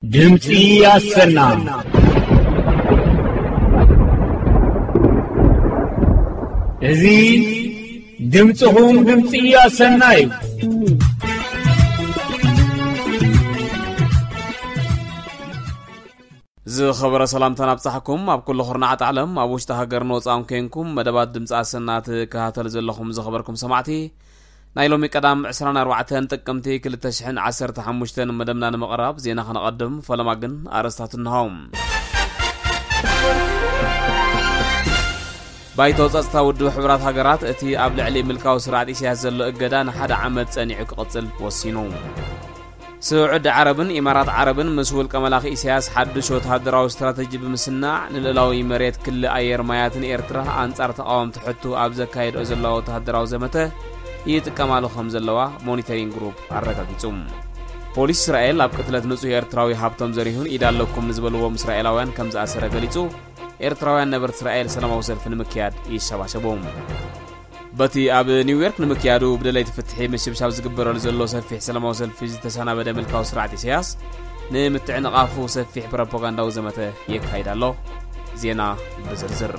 ድምፂ ኣሰና። እዚ ድምፅኹም ድምፂ ኣሰና እዩ። ዝኸበረ ሰላምታን ኣብጻሕኩም። ኣብ ኩሉ ኩርናዓት ዓለም፣ ኣብ ውሽጢ ሃገርን ወጻእን ኮንኩም መደባት ድምፂ ኣሰና ትከታተሉ ዘለኹም ዝኸበርኩም ሰማዕቲ፣ ናይ ሎሚ ቀዳም ዕስራን ኣርባዕተን ጥቅምቲ ክልተ ሽሕን ዓሰርተ ሓሙሽተን መደብና ንምቕራብ ዜና ከነቐድም፣ ፈለማ ግን ኣርእስታት እንሆ። ባይቶ ጸጥታ ውድብ ሕቡራት ሃገራት እቲ ኣብ ልዕሊ ምልካዊ ስርዓት ኢሳያስ ዘሎ እገዳ ንሓደ ዓመት ጸኒዑ ክቕጽል ወሲኑ። ስዑዲ ዓረብን ኢማራት ዓረብን ምስ ውልቀ መላኺ ኢሳያስ ሓድሽ ወተሃደራዊ ስትራተጂ ብምስናዕ፣ ንልእላዊ መሬት፣ ክሊ ኣየር፣ ማያትን ኤርትራ ኣንጻር ተቓወምቲ ሕቱ ኣብ ዘካየድኦ ዘለዋ ወተሃደራዊ ዘመተ ይጥቀማሉ ከም ዘለዋ ሞኒተሪንግ ግሩፕ ኣረጋጊጹ። ፖሊስ እስራኤል ኣብ ቅትለት ንጹህ ኤርትራዊ ሃብቶም ዘሪሁን ኢድ ኣለኩም ንዝበልዎም እስራኤላውያን ከም ዝኣሰረ ገሊጹ። ኤርትራውያን ነበርቲ እስራኤል ሰላማዊ ሰልፊ ንምክያድ ይሸባሸቡ። በቲ ኣብ ኒውዮርክ ንምክያዱ ብደለይቲ ፍትሒ ምሽብሻብ ዝግበረሉ ዘሎ ሰፊሕ ሰላማዊ ሰልፊ ዝተሰናበደ ምልካዊ ስርዓት ኢሳያስ፣ ንምትዕንቓፉ ሰፊሕ ፕሮፓጋንዳዊ ዘመተ የካይድ ኣሎ። ዜና ብዝርዝር።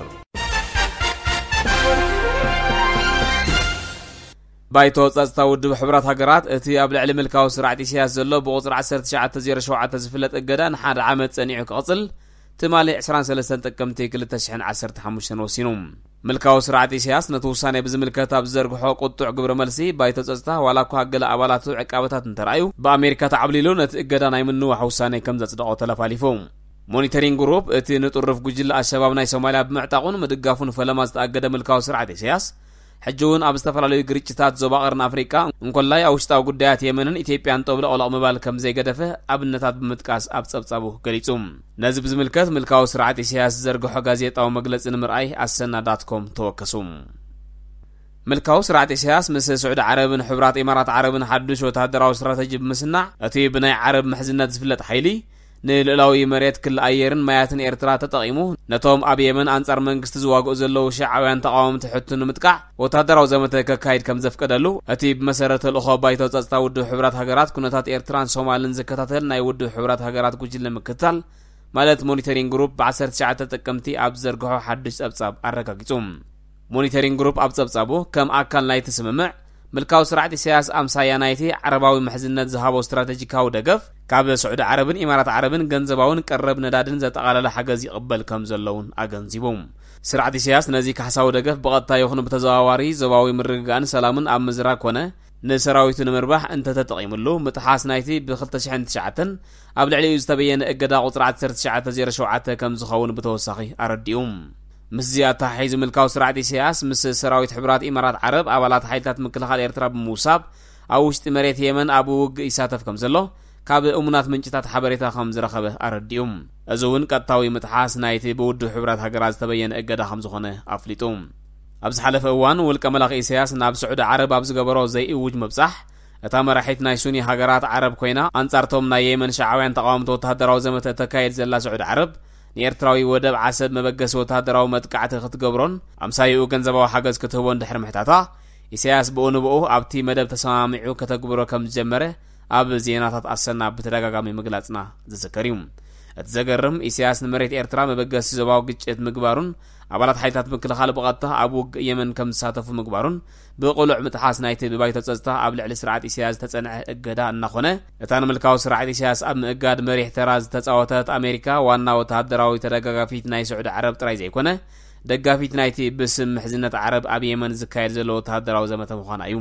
ባይቶ ጸጥታ ውድብ ሕቡራት ሃገራት፣ እቲ ኣብ ልዕሊ ምልካዊ ስርዓት ኢሳያስ ዘሎ ብቁጽሪ ዓሰርተ ትሽዓተ ዜሮ ሸውዓተ ዝፍለጥ እገዳ ንሓደ ዓመት ጸኒዑ ክቕጽል፣ ትማሊ ዕስራን ሰለስተን ጥቅምቲ ክልተ ሽሕን ዓሰርተ ሓሙሽተን ወሲኑ። ምልካዊ ስርዓት ኢሳያስ ነቲ ውሳኔ ብዝምልከት ኣብ ዝዘርግሖ ቁጡዕ ግብረ መልሲ፣ ባይቶ ጸጥታ ዋላ እኳ ገለ ኣባላቱ ዕቃበታት እንተረኣዩ፣ ብኣሜሪካ ተዓብሊሉ ነቲ እገዳ ናይ ምንዋሕ ውሳኔ ከም ዘጽደቖ ተለፋሊፉ። ሞኒተሪንግ ግሩፕ፣ እቲ ንጥሩፍ ጉጅለ ኣልሸባብ ናይ ሶማልያ ብምዕጣቑን ምድጋፉን ፈለማ ዝተኣገደ ምልካዊ ስርዓት ኢሳያስ፣ ሕጂ እውን ኣብ ዝተፈላለዩ ግርጭታት ዞባ ቀርኒ ኣፍሪቃ፣ እንኮላይ ኣብ ውሽጣዊ ጉዳያት የመንን ኢትዮጵያን ጦብለቕለቕ ምባል ከም ዘይገደፈ ኣብነታት ብምጥቃስ ኣብ ጸብጻቡ ገሊጹ። ነዚ ብዝምልከት ምልካዊ ስርዓት ኢሳያስ ዝዘርግሖ ጋዜጣዊ መግለጺ ንምርኣይ ኣሰና ዳት ኮም ተወከሱ። ምልካዊ ስርዓት ኢሳያስ ምስ ስዑዲ ዓረብን ሕቡራት ኢማራት ዓረብን ሓዱሽ ወተሃደራዊ ስትራተጂ ብምስናዕ፣ እቲ ብናይ ዓረብ ምሕዝነት ዝፍለጥ ሓይሊ ንልእላዊ መሬት፣ ክሊ ኣየርን ማያትን ኤርትራ ተጠቒሙ፣ ነቶም ኣብ የመን ኣንጻር መንግስቲ ዝዋግኡ ዘለዉ ሽዓውያን ተቓወምቲ ሕቱ ንምጥቃዕ ወተሃደራዊ ዘመተ ከካይድ ከም ዘፍቀደሉ፣ እቲ ብመሰረት ተልእኾ ባይቶ ጸጥታ ውድብ ሕቡራት ሃገራት ኩነታት ኤርትራን ሶማልን ዝከታተል ናይ ውድብ ሕቡራት ሃገራት ጉጅለ ምክትታል፣ ማለት ሞኒተሪንግ ግሩፕ፣ ብ ዓሰርተ ትሽዓተ ጥቅምቲ ኣብ ዝዘርግሖ ሓድሽ ጸብጻብ ኣረጋጊጹ። ሞኒተሪንግ ግሩፕ ኣብ ጸብጻቡ፣ ከም ኣካል ናይቲ ስምምዕ፣ ምልካዊ ስርዓት ኢሳያስ ኣምሳያ ናይቲ ዓረባዊ ምሕዝነት ዝሃቦ ስትራተጂካዊ ደገፍ፣ ካብ ስዑዲ ዓረብን ኢማራት ዓረብን ገንዘባውን ቀረብ ነዳድን ዘጠቓለለ ሓገዝ ይቕበል ከም ዘሎ እውን ኣገንዚቡ። ስርዓት ኢሳያስ ነዚ ካሕሳዊ ደገፍ ብቐጥታ ይኹን ብተዘዋዋሪ ዞባዊ ምርግጋእን ሰላምን ኣብ ምዝራግ ኮነ ንሰራዊቱ ንምርባሕ እንተተጠቒምሉ፣ ምጥሓስ ናይቲ ብ ክልተ ሽሕን ትሽዓተን ኣብ ልዕሊኡ ዝተበየነ እገዳ ቁጽሪ ዓሰርተ ትሽዓተ ዜሮ ሸውዓተ ከም ዝኸውን ብተወሳኺ ኣረዲኡ። ምስዚ ኣተሓሒዙ ምልካዊ ስርዓት ኢሳያስ ምስ ሰራዊት ሕቡራት ኢማራት ዓረብ ኣባላት ሓይልታት ምክልኻል ኤርትራ ብምውሳብ ኣብ ውሽጢ መሬት የመን ኣብ ውግእ ይሳተፍ ከም ዘሎ ካብ እሙናት ምንጭታት ሓበሬታ ከም ዝረኸበ ኣረዲኡ። እዚ እውን ቀጥታዊ ምጥሓስ ናይቲ ብውድብ ሕቡራት ሃገራት ዝተበየነ እገዳ ከም ዝኾነ ኣፍሊጡ። ኣብ ዝሓለፈ እዋን ውልቀ መላኺ ኢሳያስ ናብ ስዑዲ ዓረብ ኣብ ዝገበሮ ዘይእውጅ ምብጻሕ፣ እታ መራሒት ናይ ሱኒ ሃገራት ዓረብ ኮይና፣ ኣንጻርቶም ናይ የመን ሸዓውያን ተቓወምቲ ወተሃደራዊ ዘመተ እተካየድ ዘላ ስዑዲ ዓረብ፣ ንኤርትራዊ ወደብ ዓሰብ መበገሲ ወተሃደራዊ መጥቃዕቲ ክትገብሮን ኣምሳይኡ ገንዘባዊ ሓገዝ ክትህቦን ድሕሪ ምሕታታ፣ ኢሳያስ ብኡ ንብኡ ኣብቲ መደብ ተሰማሚዑ ከተግብሮ ከም ዝጀመረ ኣብ ዜናታት ኣሰና ብተደጋጋሚ ምግላጽና ዝዝከር እዩ። እቲ ዘገርም፣ ኢሳያስ ንመሬት ኤርትራ መበገሲ ዞባዊ ግጭት ምግባሩን ኣባላት ሓይልታት ምክልኻል ብቐጥታ ኣብ ውግእ የመን ከም ዝሳተፉ ምግባሩን ብቕሉዕ ምጥሓስ ናይቲ ብባይቶ ጸጥታ ኣብ ልዕሊ ስርዓት ኢሳያስ ዝተጸንዐ እገዳ እናኾነ፣ እታ ንምልካዊ ስርዓት ኢሳያስ ኣብ ምእጋድ መሪሕ ተራ ዝተጻወተት ኣሜሪካ ዋና ወተሃደራዊ ተደጋጋፊት ናይ ስዑዲ ዓረብ ጥራይ ዘይኮነ፣ ደጋፊት ናይቲ ብስም ምሕዝነት ዓረብ ኣብ የመን ዝካየድ ዘሎ ወተሃደራዊ ዘመተ ምዃና እዩ።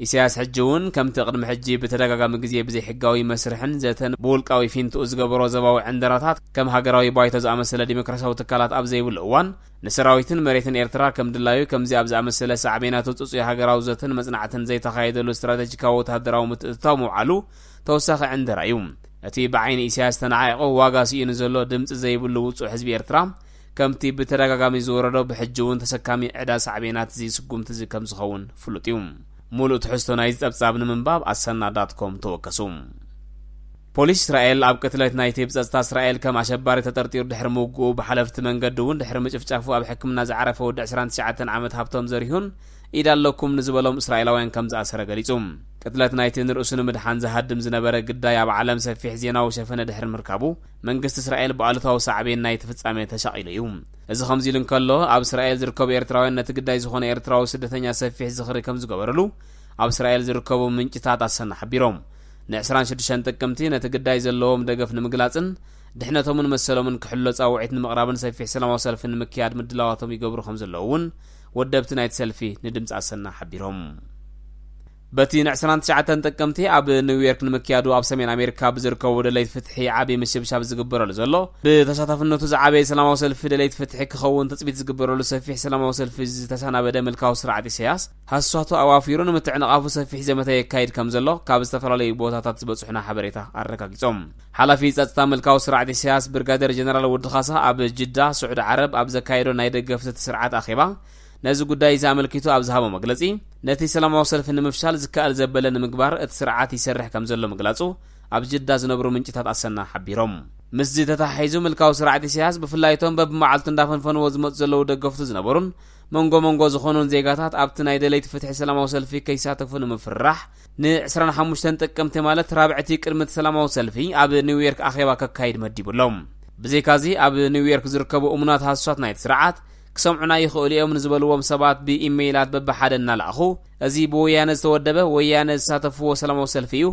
ኢሳያስ ሕጂ እውን ከምቲ ቅድሚ ሕጂ ብተደጋጋሚ ግዜ ብዘይሕጋዊ መስርሕን ዘተን ብውልቃዊ ፊንትኡ ዝገበሮ ዞባዊ ዕንደራታት ከም ሃገራዊ ባይቶ ዝኣመሰለ ዲሞክራሲያዊ ትካላት ኣብ ዘይብሉ እዋን፣ ንሰራዊትን መሬትን ኤርትራ ከም ድላዩ ከምዚ ኣብ ዝኣመሰለ ሳዕቤናቱ ጽጹይ ሃገራዊ ዘተን መጽናዕትን ዘይተኻየደሉ ስትራተጂካዊ ወተሃደራዊ ምትእትታው ምውዓሉ ተወሳኺ ዕንደራ እዩ። እቲ ብዓይኒ ኢሳያስ ተነዓቑ ዋጋ ስኢኑ ዘሎ ድምጺ ዘይብሉ ውጹዕ ህዝቢ ኤርትራ፣ ከምቲ ብተደጋጋሚ ዝወረዶ ብሕጂ እውን ተሰካሚ ዕዳ ሳዕቤናት እዚ ስጉምቲ እዚ ከም ዝኸውን ፍሉጥ እዩ። ሙሉእ ትሕዝቶ ናይዚ ጸብጻብ ንምንባብ ኣሰና ዳት ኮም ተወከሱ። ፖሊስ እስራኤል ኣብ ቅትለት ናይቲ ብጸጥታ እስራኤል ከም ኣሸባሪ ተጠርጢሩ ድሕሪ ምውግኡ ብሓለፍቲ መንገዲ እውን ድሕሪ ምጭፍጫፉ ኣብ ሕክምና ዝዓረፈ ወዲ ዕስራን ትሽዓተን ዓመት ሃብቶም ዘሪሁን ኢድ ኣለኩም ንዝበሎም እስራኤላውያን ከም ዝኣሰረ ገሊጹ። ቅትለት ናይቲ ንርእሱ ንምድሓን ዝሃድም ዝነበረ ግዳይ ኣብ ዓለም ሰፊሕ ዜናዊ ሸፈነ ድሕሪ ምርካቡ፣ መንግስቲ እስራኤል ብኣሉታዊ ሳዕቤን ናይቲ ፍጻሜ ተሻቒሉ እዩ። እዚ ከምዚ ኢሉ እንከሎ፣ ኣብ እስራኤል ዝርከቡ ኤርትራውያን ነቲ ግዳይ ዝኾነ ኤርትራዊ ስደተኛ ሰፊሕ ዝኽሪ ከም ዝገበርሉ ኣብ እስራኤል ዝርከቡ ምንጭታት ኣሰና ሓቢሮም። ን ዕስራን ሽዱሽተን ጥቅምቲ ነቲ ግዳይ ዘለዎም ደገፍ ንምግላጽን ድሕነቶምን መሰሎምን ክሕሎ ጻውዒት ንምቕራብን ሰፊሕ ሰላማዊ ሰልፊ ንምክያድ ምድላዋቶም ይገብሩ ከም ዘለዉ እውን ወደብቲ ናይቲ ሰልፊ ንድምፂ ኣሰና ሓቢሮም። በቲ ን ዕስራን ትሽዓተን ጥቅምቲ ኣብ ኒውዮርክ ንምክያዱ ኣብ ሰሜን ኣሜሪካ ብዝርከቡ ደለይቲ ፍትሒ ዓብዪ ምሽብሻብ ዝግበረሉ ዘሎ፣ ብተሳታፍነቱ ዝዓበየ ሰላማዊ ሰልፊ ደለይቲ ፍትሒ ክኸውን ትፅቢት ዝግበረሉ ሰፊሕ ሰላማዊ ሰልፊ ዝተሰናበደ ምልካዊ ስርዓት ኢሳያስ፣ ሃሳቱ ኣዋፊሩ ንምትዕንቓፉ ሰፊሕ ዘመተ የካይድ ከም ዘሎ ካብ ዝተፈላለዩ ቦታታት ዝበጽሑና ሓበሬታ ኣረጋጊጾም። ሓላፊ ጸጥታ ምልካዊ ስርዓት ኢሳያስ ብርጋዴር ጀነራል ወዲ ካሳ ኣብ ጅዳ፣ ስዑዲ ዓረብ፣ ኣብ ዘካየዶ ናይ ደገፍቲ እቲ ስርዓት ኣኼባ፣ ነዚ ጉዳይ እዚ ኣመልኪቱ ኣብ ዝሃቦ መግለጺ፣ ነቲ ሰላማዊ ሰልፊ ንምፍሻል ዝከኣል ዘበለ ንምግባር እቲ ስርዓት ይሰርሕ ከም ዘሎ ምግላጹ ኣብ ጅዳ ዝነብሩ ምንጭታት ኣሰና ሓቢሮም። ምስዚ ተተሓሒዙ ምልካዊ ስርዓት ኢሳያስ ብፍላይ እቶም በብመዓልቱ እንዳፈንፈንዎ ዝመጹ ዘለዉ ደገፍቱ ዝነበሩን መንጎ መንጎ ዝኾኑን ዜጋታት ኣብቲ ናይ ደለይቲ ፍትሒ ሰላማዊ ሰልፊ ከይሳተፉ ንምፍርራሕ ን ዕስራን ሓሙሽተን ጥቅምቲ ማለት ራብዕቲ ቅድሚ እቲ ሰላማዊ ሰልፊ ኣብ ኒውዮርክ ኣኼባ ከካይድ መዲቡ ኣሎ። ብዘይካዚ ኣብ ኒውዮርክ ዝርከቡ እሙናት ሃሱሳት ናይቲ ስርዓት ክሰምዑና ይኽእሉ እዮም ንዝበልዎም ሰባት ብኢሜይላት በብሓደ እናለኣኹ፣ እዚ ብወያነ ዝተወደበ ወያነ ዝሳተፍዎ ሰላማዊ ሰልፊ እዩ፣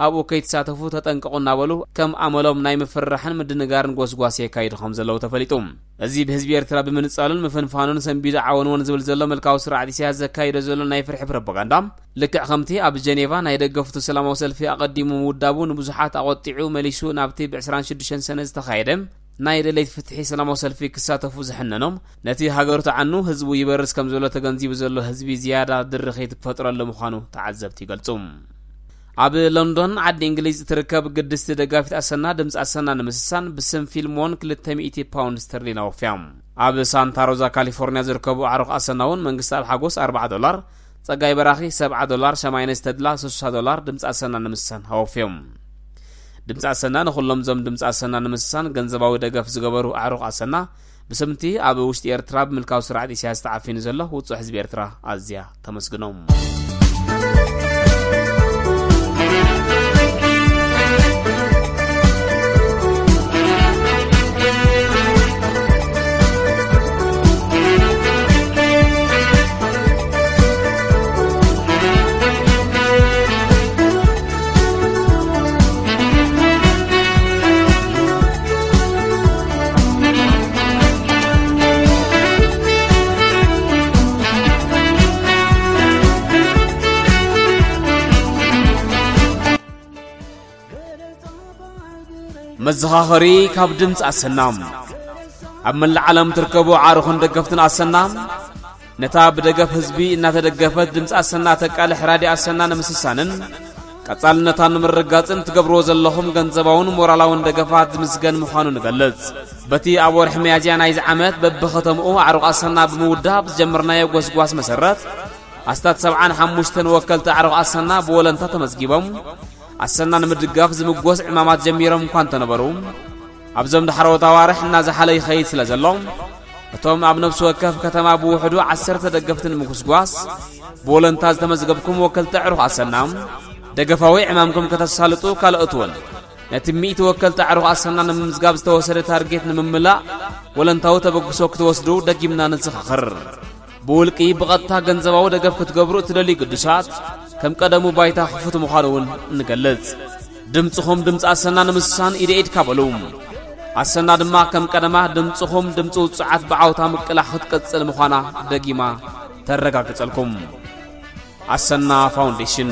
ኣብኡ ከይትሳተፉ ተጠንቀቑ እናበሉ ከም ኣመሎም ናይ ምፍርራሕን ምድንጋርን ጎስጓስ የካይዱ ከም ዘለዉ ተፈሊጡ። እዚ ብህዝቢ ኤርትራ ብምንጻሉን ምፍንፋኑን ሰንቢዱ ዓወንወን ዝብል ዘሎ ምልካዊ ስርዓት ኢሳያስ ዘካይዶ ዘሎ ናይ ፍርሒ ፕሮፓጋንዳ፣ ልክዕ ከምቲ ኣብ ጀኔቫ ናይ ደገፍቱ ሰላማዊ ሰልፊ ኣቐዲሙ ምውዳቡ ንብዙሓት ኣቖጢዑ መሊሱ ናብቲ ብ ዕስራን ሽዱሽተን ሰነ ዝተኻየደ ናይ ደለይቲ ፍትሒ ሰላማዊ ሰልፊ ክሳተፉ ዝሕነኖም፣ ነቲ ሃገሩ ተዓኑ ህዝቡ ይበርስ ከም ዘሎ ተገንዚቡ ዘሎ ህዝቢ ዝያዳ ድርኺት ክፈጥረሉ ምዃኑ ተዓዘብቲ ይገልጹ። ኣብ ሎንዶን ዓዲ እንግሊዝ እትርከብ ግድስቲ ደጋፊት ኣሰና ድምፂ ኣሰና ንምስሳን ብስም ፊልሞን ክልተ ሚእቲ ፓውንድ ስተርሊን ኣወፍያ። ኣብ ሳንታ ሮዛ ካሊፎርኒያ ዝርከቡ ኣዕሩኽ ኣሰና እውን መንግስቲ ኣብ ሓጎስ ኣርብዓ ዶላር፣ ጸጋይ በራኺ ሰብዓ ዶላር፣ ሸማይነሽ ተድላ ስሳ ዶላር ድምፂ ኣሰና ንምስሳን ኣወፍዮም። ድምፂ ኣሰና ንኹሎም እዞም ድምፂ ኣሰና ንምስሳን ገንዘባዊ ደገፍ ዝገበሩ ኣዕሩኽ ኣሰና ብስምቲ ኣብ ውሽጢ ኤርትራ ብምልካዊ ስርዓት ኢሳያስ ተዓፊኑ ዘሎ ውጹዕ ህዝቢ ኤርትራ ኣዝያ ተመስግኖም። መዘኻኸሪ ካብ ድምፂ ኣሰና። ኣብ መላእ ዓለም ትርከቡ ኣዕሩኽን ደገፍትን ኣሰና፣ ነታ ብደገፍ ህዝቢ እናተደገፈት ድምፂ ኣሰና ተቃልሕ ራድዮ ኣሰና ንምስሳንን ቀጻልነታን ንምርግጋጽን ትገብርዎ ዘለኹም ገንዘባውን ሞራላውን ደገፋት ዝምስገን ምዃኑ ንገልጽ። በቲ ኣብ ወርሒ ሚያዝያ ናይዚ ዓመት በብኸተምኡ ኣዕሩኽ ኣሰና ብምውዳብ ዝጀመርናዮ ጎስጓስ መሰረት፣ ኣስታት ሰብዓን ሓሙሽተን ወከልቲ ኣዕሩኽ ኣሰና ብወለንታ ተመዝጊቦም፣ ኣሰና ንምድጋፍ ዝምጎስ ዕማማት ጀሚሮም እኳ እንተነበሩ፣ ኣብዞም ዳሕረዎት ኣዋርሕ እናዝሓለ ይኸይድ ስለ ዘሎ፣ እቶም ኣብ ነፍሲ ወከፍ ከተማ ብውሕዱ ዓሰርተ ደገፍቲ ንምጉስጓስ ብወለንታ ዝተመዝገብኩም ወከልቲ ኣዕሩኽ ኣሰና፣ ደገፋዊ ዕማምኩም ከተሳልጡ፣ ካልኦት እውን ነቲ ሚእቲ ወከልቲ ኣዕሩኽ ኣሰና ንምምዝጋብ ዝተወሰደ ታርጌት ንምምላእ ወለንታዊ ተበግሶ ክትወስዱ ደጊምና ነዘኻኽር። ብውልቂ ብቐጥታ ገንዘባዊ ደገፍ ክትገብሩ እትደልዩ ግዱሳት፣ ከም ቀደሙ ባይታ ክፉት ምዃኑ እውን ንገልጽ። ድምጽኹም ድምጺ ኣሰና ንምስሳን ኢደ ኢድካ በሉ። ኣሰና ድማ ከም ቀደማ ድምጽኹም ድምጺ ውጹዓት ብዓውታ ምቅላሕ ክትቅጽል ምዃና ደጊማ ተረጋግጸልኩም። ኣሰና ፋውንዴሽን።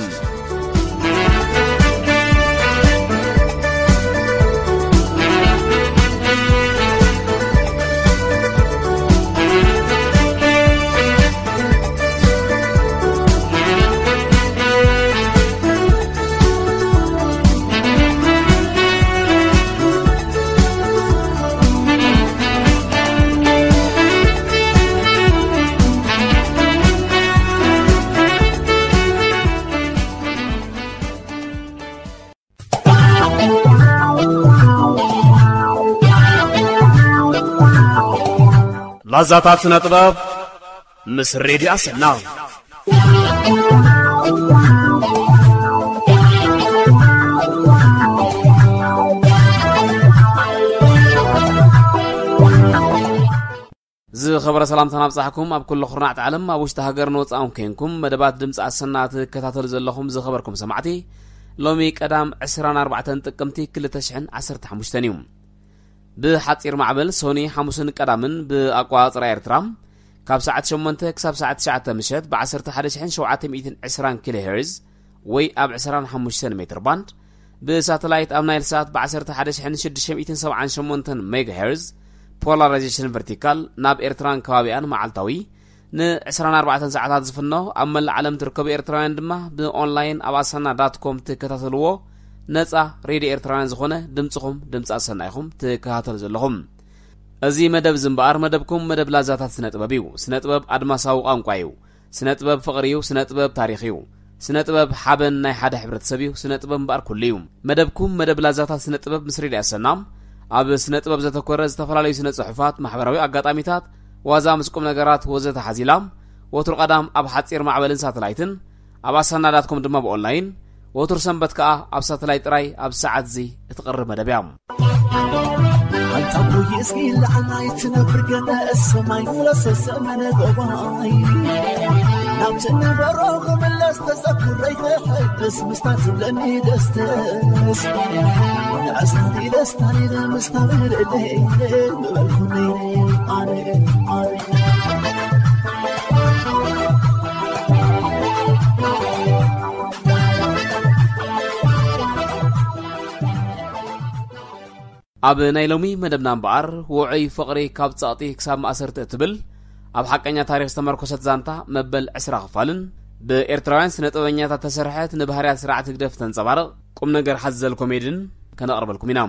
ላዛታት ስነ ጥበብ ምስ ሬድዮ ኣሰና። ዝኸበረ ሰላምታና ኣብጻሕኩም። ኣብ ኩሉ ኩርናዕቲ ዓለም፣ ኣብ ውሽጢ ሃገር ንወጻእኩም ኮንኩም መደባት ድምፂ ኣሰና ትከታተሉ ዘለኹም ዝኸበርኩም ሰማዕቲ፣ ሎሚ ቀዳም ዕስራን ኣርባዕተን ጥቅምቲ ክልተ ሽሕን ዓሰርተ ሓሙሽተን እዩ። ብሓጺር ማዕበል ሶኒ፣ ሓሙስን ቀዳምን ብኣቋጽራ ኤርትራ ካብ ሰዓት ሸሞንተ ክሳብ ሰዓት ትሽዓተ ምሸት ብ ዓሰርተ ሓደ ሽሕን ሸውዓተ ሚእትን ዕስራን ኪሎ ሄርዝ ወይ ኣብ ዕስራን ሓሙሽተን ሜትር ባንድ፣ ብሳተላይት ኣብ ናይል ሳት ብ ዓሰርተ ሓደ ሽሕን ሽዱሽተ ሚእትን ሰብዓን ሸሞንተን ሜጋ ሄርዝ ፖላራይዜሽን ቨርቲካል ናብ ኤርትራን ከባቢኣን መዓልታዊ ን ዕስራን ኣርባዕተን ሰዓታት ዝፍኖ፣ ኣብ መላእ ዓለም ትርከቡ ኤርትራውያን ድማ ብኦንላይን ኣብ ኣሰና ዳት ኮም ትከታተልዎ ነጻ ሬድዮ ኤርትራውያን ዝኾነ ድምጽኹም ድምጺ ኣሰና ኢኹም ትከታተሉ ዘለኹም። እዚ መደብ እዚ እምበኣር መደብኩም መደብ ላዛታት ስነ ጥበብ እዩ። ስነ ጥበብ ኣድማሳዊ ቋንቋ እዩ። ስነ ጥበብ ፍቕሪ እዩ። ስነ ጥበብ ታሪኽ እዩ። ስነ ጥበብ ሓበን ናይ ሓደ ሕብረተሰብ እዩ። ስነ ጥበብ እምበኣር ኩሉ እዩ። መደብኩም መደብ ላዛታት ስነ ጥበብ ምስ ሬድዮ ኣሰና ኣብ ስነ ጥበብ ዘተኮረ ዝተፈላለዩ ስነ ጽሑፋት፣ ማሕበራዊ ኣጋጣሚታት፣ ዋዛ ምስ ቁም ነገራት ወዘተ ሓዚላ፣ ወትሩ ቀዳም ኣብ ሓጺር ማዕበልን ሳተላይትን፣ ኣብ ኣሰና ዳት ኮም ድማ ብኦንላይን፣ ወትሩ ሰንበት ከኣ ኣብ ሳተላይት ጥራይ ኣብ ሰዓት እዚ እትቐርብ መደብ እያ። ኣንታ ቡይ እስኪ ላዕላይ ትነብር ገለ ሰማይ ሙላ ሰሰመነ ጎባይ ናብቲ ነበሮ ክምለስ ተዘክረይ ክሕድስ ምስታ ትብለኒ ደስተስ ንዕስታቲ ደስታኒ ንምስታ ብርለይ ምበልኩኒ ኣነ ኣነ ኣብ ናይ ሎሚ መደብና እምበኣር፣ ውዑይ ፍቕሪ ካብ ጸቕጢ ክሳብ ማእሰርቲ እትብል ኣብ ሓቀኛ ታሪኽ ዝተመርኮሰት ዛንታ መበል ዕስራ ክፋልን ብኤርትራውያን ስነ ጥበበኛታት ተሰርሐት ንባህርያት ስርዓት ህግደፍ ተንጸባርቕ ቁም ነገር ሓዘል ኮሜድን ከነቕርበልኩም ኢና።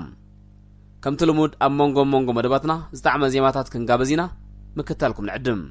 ከምቲ ልሙድ ኣብ መንጎ መንጎ መደባትና ዝጣዕመ ዜማታት ክንጋበዝ ኢና፣ ምክታልኩም ንዕድም።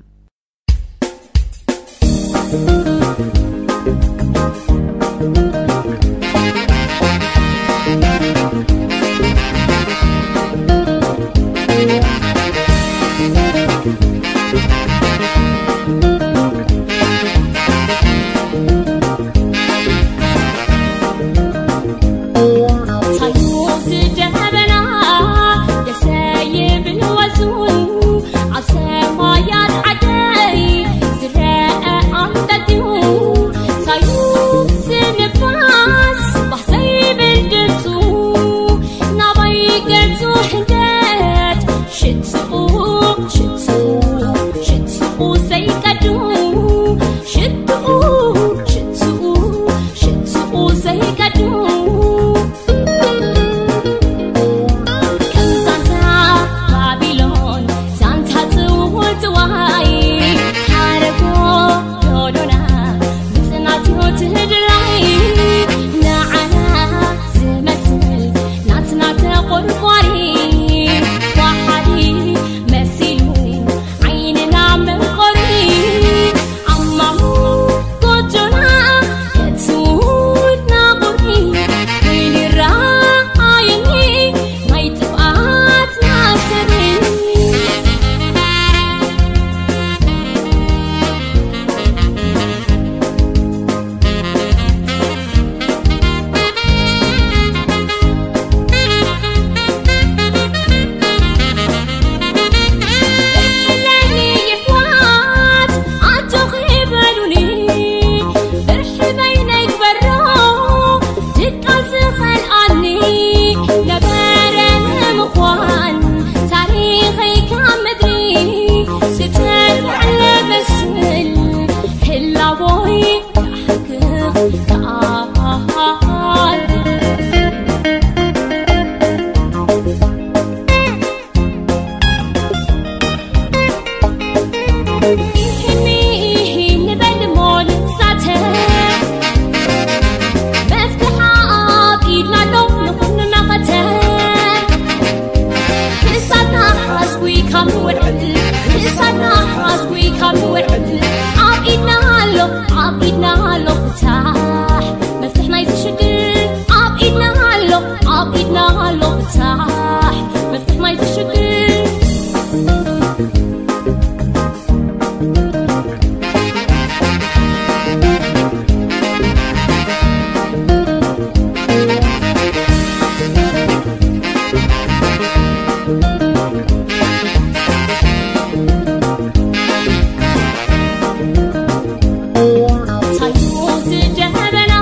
ታዩ ዝደበና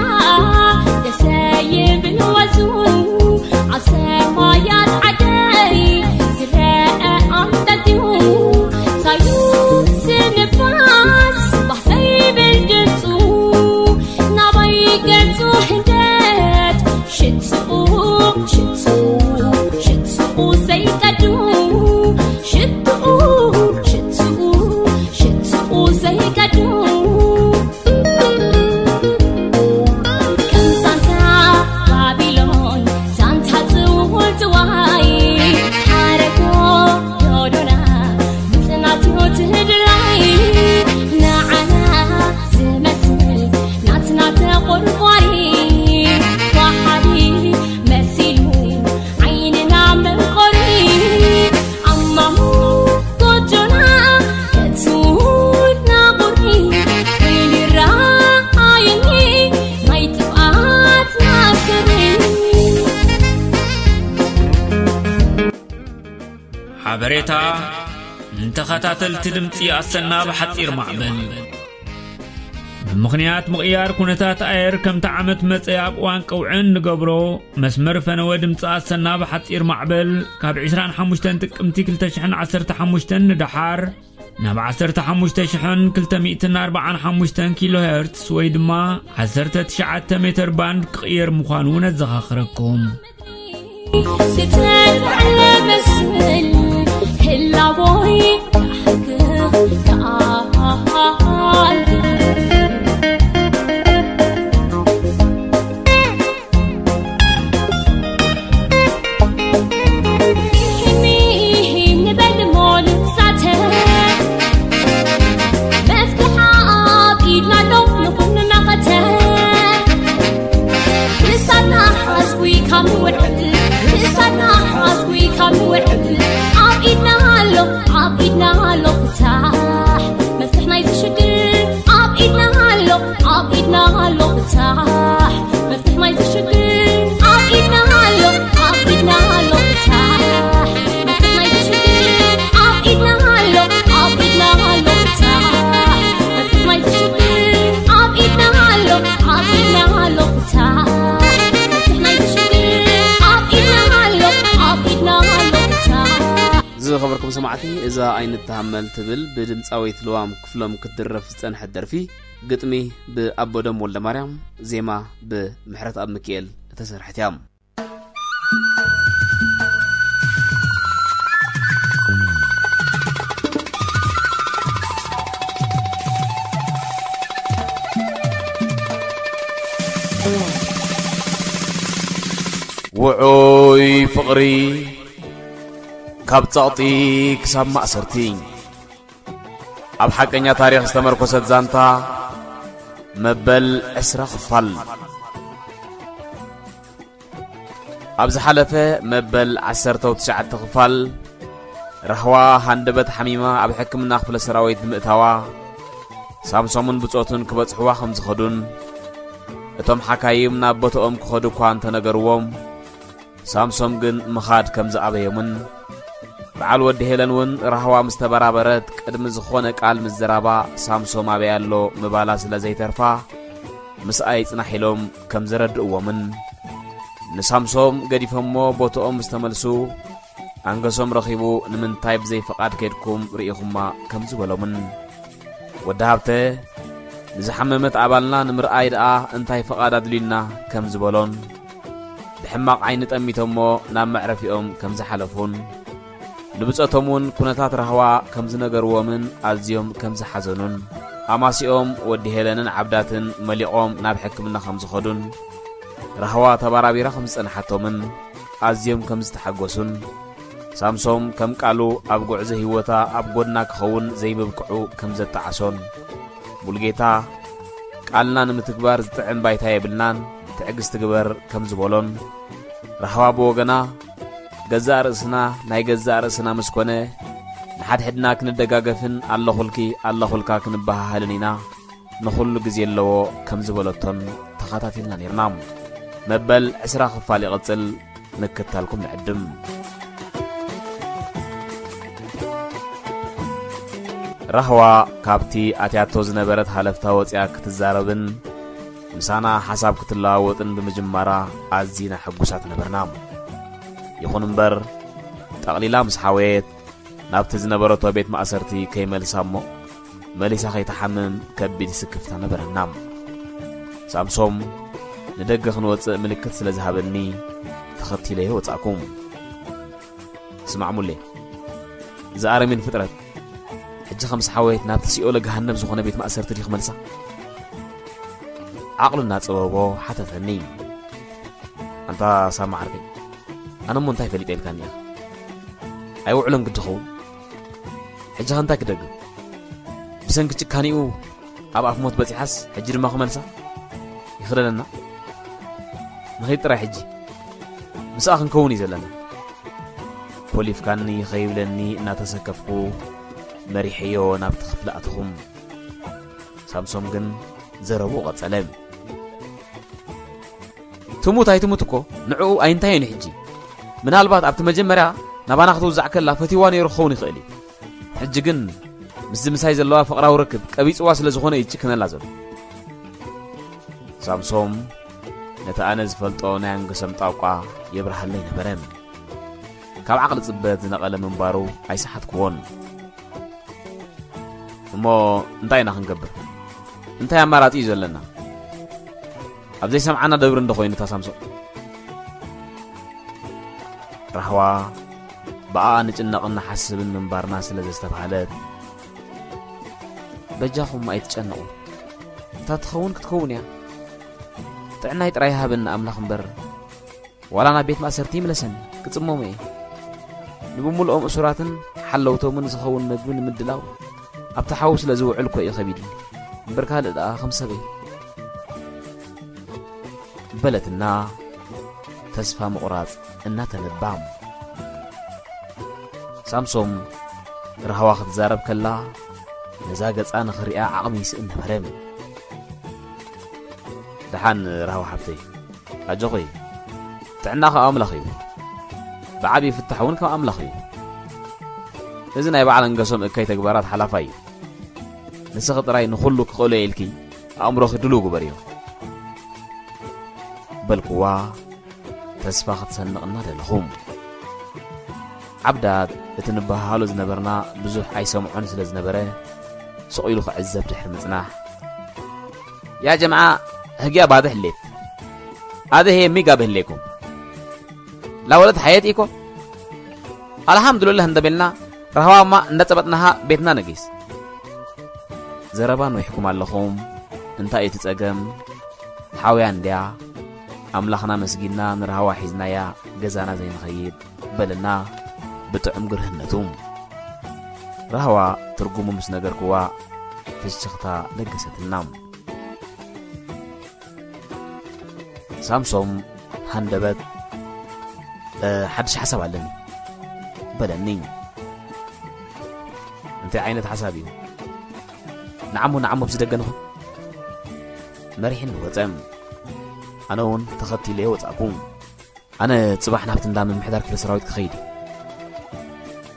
ደሰ ይብል ወዙ ኣብ ሰማያት ዓደይ ዝረአ ኣንጠልጢሉ ታዩ ዝንፋስ ባህ ዘይብል ድምፁ ናባይ ገፁ ህንደት ሽትኡ ሽትኡ ሽትኡ ዘይቀዱ ሽትኡ ሽትኡ ሽትኡ ዘይቀዱ ከም ዛንታ ባቢሎን ዛንታ ጽውጽዋይ ሓረጎ ዶዶና ምጽናት ህይወት ህድላይ ንዓና ዝመስል ናትና ተቆርቋሪ ዋሓዲ መሲሉ ዓይንና መንቆሪ ኣማሙ ጎጆና ከትውና ቁሪ ኮይኑ ይረኣየኒ ናይ ጥፍኣትና ስሪ ሓበሬታ ንተኸታተልቲ ድምፂ ኣሰና ብሓፂር ማዕበል ብምኽንያት ምቕያር ኩነታት ኣየር ከምቲ ዓመት መጸ ኣብ እዋን ቀውዒ እንገብሮ መስመር ፈነወ ድምፂ ኣሰና ብሓፂር ማዕበል ካብ ዕስራን ሓሙሽተን ጥቅምቲ ክልተ ሽሕን ዓሰርተ ሓሙሽተን ንደሓር ናብ ዓሰርተ ሓሙሽተ ሽሕን ክልተ ሚእትን ኣርባዓን ሓሙሽተን ኪሎ ሄርትስ ወይ ድማ ዓሰርተ ትሽዓተ ሜተር ባንድ ክቕየር ምዃኑ ነዘኻኽረኩም። ዝተፈዕለ መስል ህላቦይ ክሕክኽ ከኣል ንበል እሞ ንሳተ መፍትሓ ኣብ ኢድና ኣሎ ንኹን መኸተ ክሳድና ሓዝጉ ካብ ንውዕል ክሳድና ሓዝጉ ካብ ንውዕል ኣብ ኢድና ኣሎ ኣብ ኢድና ኣሎ ፍታሕ መፍትሕ ናይዚ ሽግር ኣብ ኢድና ኣሎ ኣብ ኢድና ኣሎ ፍታሕ መፍትሕ ናይዚ ሽግር ኣብ ኢድና ኣሎ ኣብ ኢድና ኣሎ ፍታሕ መፍትሕ ናይዚ ሽግር ኣብ ኢድና ኣሎ ኣብ ኢድና ኣሎ ፍታሕ መፍትሕ ናይዚ ሽግር ኣብ ኢድና ኣሎ ኣብ ኢድና ኣሎ ፍታሕ መፍትሕ ናይዚ ሽግር ኣብ ኢድና ኣሎ ኣብ ኢድና ኣሎ ፍታሕ ዝኸበርኩም ሰማዕቲ፣ እዛ ኣይንተሃመል ትብል ብድምፃዊት ልዋም ክፍሎም ክትድረፍ ዝፀንሐት ደርፊ፣ ግጥሚ ብኣቦዶም ወልደማርያም፣ ዜማ ብምሕረትኣብ ሚኪኤል እተሰርሐት እያ። ውዑይ ፍቕሪ ካብ ጸቕጢ ክሳብ ማእሰርቲ። ኣብ ሓቀኛ ታሪኽ ዝተመርኮሰት ዛንታ መበል ዕስራ ክፋል። ኣብ ዝሓለፈ መበል ዓሰርተው ትሽዓተ ክፋል፣ ራህዋ ሃንደበት ሓሚማ ኣብ ሕክምና ክፍለ ሰራዊት ብምእታዋ፣ ሳምሶምን ብጾቱን ክበጽሕዋ ከም ዝኸዱን፣ እቶም ሓካይም ናብ ቦታኦም ክኸዱ እኳ እንተነገርዎም፣ ሳምሶም ግን ምኻድ ከም ዝኣበዮምን፣ በዓል ወዲ ሄለን እውን ራህዋ ምስ ተበራበረት ቅድሚ ዝኾነ ቃል ምዝራባ ሳምሶም ኣበይ ኣሎ ምባላ ስለ ዘይተርፋ፣ ምስኣ ይጽናሕ ኢሎም ከም ዘረድእዎምን፣ ንሳምሶም ገዲፎሞ ቦታኦም ምስ ተመልሱ፣ ኣንገሶም ረኺቡ ንምንታይ ብዘይ ፍቓድ ከይድኩም ርኢኹማ ከም ዝበሎምን፣ ወዲ ሃብተ ንዝሓመመት ኣባልና ንምርኣይ ደኣ እንታይ ፍቓድ ኣድልዩና ከም ዝበሎን፣ ብሕማቕ ዓይኒ ጠሚቶሞ ናብ መዕረፊኦም ከም ዝሓለፉን፣ ንብጾቶም እውን ኩነታት ራህዋ ከም ዝነገርዎምን ኣዝዮም ከም ዝሓዘኑን፣ ኣማሲኦም ወዲ ሄለንን ዓብዳትን መሊቖም ናብ ሕክምና ከም ዝኸዱን፣ ራህዋ ተባራቢራ ከም ዝጸንሓቶምን ኣዝዮም ከም ዝተሓጎሱን፣ ሳምሶም ከም ቃሉ ኣብ ጉዕዞ ህይወታ ኣብ ጎድና ክኸውን ዘይምብቅዑ ከም ዘጣዓሶን፣ ሙሉጌታ ቃልና ንምትግባር ዝጥዕም ባይታ የብልናን፣ ትዕግስቲ ግበር ከም ዝበሎን፣ ራህዋ ብወገና ገዛእ ርእስና ናይ ገዛእ ርእስና ምስ ኮነ ንሓድሕድና ክንደጋገፍን ኣለኹልኪ ኣለኹልካ ክንበሃሃልን ኢና፣ ንኹሉ ግዜ ኣለዎ ከም ዝበለቶን ተኸታቲልና ኔርና። መበል ዕስራ ክፋል ይቕጽል፣ ምክታልኩም ንዕድም። ራህዋ ካብቲ ኣትያቶ ዝነበረት ሃለፍታ ወጺኣ ክትዛረብን ምሳና ሓሳብ ክትለዋወጥን ብምጅማራ ኣዚና ሕጉሳት ነበርና። ይኹን እምበር፣ ጠቕሊላ ምስ ሓወየት ናብቲ ዝነበረቶ ቤት ማእሰርቲ ከይመልሳ እሞ መሊሳ ከይትሓምም ከቢድ ስክፍታ ነበረና። ሳምሶም ንደገ ክንወጽእ ምልክት ስለ ዝሃበኒ ተኸቲለዮ ወጻእኩ። ስማዕ ሙሌ፣ እዚ ኣረሜን ፍጥረት ሕጂ ከም ዝሓወየት ናብቲ ሲኦለ ገሃነብ ዝኾነ ቤት ማእሰርቲ ድዩ ክመልሳ? ዓቕሉ እናጸበቦ ሓተተኒ። ኣንታ ሳማ ዓርከይ፣ ኣነ እሞ እንታይ ፈሊጠ ኢልካኒ ኢኻ? ኣይውዕሎን ግዲ ኸውን። ሕጂ ኸ እንታይ ክደግም? ብሰንኪ ጭካኒኡ ኣብ ኣፍ ሞት በጺሓስ ሕጂ ድማ ክመልሳ? ይኽደነና። ንኸይድ ጥራይ ሕጂ። ምስኣ ክንከውን እዩ ዘለና። ኮሊፍካኒ ኸይብለኒ እናተሰከፍኩ መሪሐዮ ናብቲ ክፍሊ ኣተኹም። ሳምሶም ግን ዘረብኡ ቀጸለ። ትሙት ኣይትሙት እኮ ንዕኡ ኣይንታዮን እዩ ሕጂ። ምናልባት ኣብቲ መጀመርያ ናባና ክትውዛዕ ከላ ፈትይዋ ነይሩ ክኸውን ይኽእል እዩ። ሕጂ ግን ምስዚ ምሳይ ዘለዋ ፍቕራዊ ርክብ ቀቢጽዋ ስለ ዝኾነ እዩ ይጭክነላ ዘሎ። ሳምሶም ነቲ ኣነ ዝፈልጦ ናይ ኣንገሶም ጣቋ የብርሃለይ ነበረ። ካብ ዓቕሊ ጽበት ዝነቐለ ምንባሩ ኣይሰሓትክዎን። እሞ እንታይ ኢና ክንገብር? እንታይ ኣማራጺ እዩ ዘለና? ኣብ ዘይሰምዓና ደብሪ እንዶ ኮይኑ እታ ሳምሶም። ራህዋ ብኣኣ ንጭነቕን ንሓስብን ምንባርና ስለ ዘስተብሃለት፣ በጃኹም ኣይትጨነቑ። እታ ትኸውን ክትከውን እያ። ጥዕናይ ጥራይ ይሃበኒ ኣምላኽ እምበር፣ ዋላ ናብ ቤት ማእሰርቲ ይምለሰኒ፣ ክጽመሙ እየ። ንብምልኦም እሱራትን ሓለውቶምን ዝኸውን መግቢ ንምድላው ኣብቲ ሓዊ ስለ ዝውዕል እኮ እዩ ከቢድኒ። እምበር ካልእ ደኣ ከም ሰበይ። በለትና ተስፋ ምቑራጽ እናተነባ። ሳምሶም ራህዋ ክትዛረብ ከላ ነዛ ገጻ ንኽሪኣ ዓቕሚ ይስእን ነበረ። ደሓን ራህዋ ሓብተይ፣ ኣጆኺ፣ ጥዕና ካብ ኣምላኽ እዩ። ብዓቢ ፍታሕ እውን ካብ ኣምላኽ እዩ። እዚ ናይ በዓል ኣንገሶም እከይ ተግባራት ሓላፋይ እዩ። ንስኺ ጥራይ ንኹሉ ክኽእሎ ኢልኪ ኣእምሮኺ ድሉው ግበርዮ። በልኩዋ ተስፋ ክትሰንቕ እናደለኹ። ዓብዳት እቲ ንበሃሃሎ ዝነበርና ብዙሕ ኣይሰምዖን ስለ ዝነበረ፣ ስቕ ኢሉ ክዕዘብ ድሕሪ ምጽናሕ፣ ያ ጀምዓ ህግያ ባድሕ ሌት ኣደ ሄ ሚጋ ብህሌኩም ላወለት ሓየት ኢኮ ኣልሓምዱልላህ እንደበልና ራህዋማ እንዳጸበጥናሃ ቤትና ነጊስ። ዘረባ ንዊሕኩም ኣለኹም። እንታይ እቲ ጸገም? ሓውያ እንድያ። ኣምላኽና መስጊንና ንራህዋ ሒዝናያ ገዛና ዘይንኸይድ በለና ብጥዑም ግርህነቱ። ራህዋ ትርጉሙ ምስ ነገርክዋ ፍሽኽታ ለገሰትና። ሳምሶም ሃንደበት፣ "እ፣ ሓድሽ ሓሳብ ኣለኒ" በለኒ። "እንታይ ዓይነት ሓሳብ እዩ?" "ንዓሞ ንዓሞ ብዝደገ ንኹን" መሪሕኒ ወጸ። ኣነ እውን ተኸቲለዮ ወጻእኩ። ኣነ ጽባሕ ናብቲ እንዳ ምምሕዳር ክፍለ ሰራዊት ክኸይድ እየ።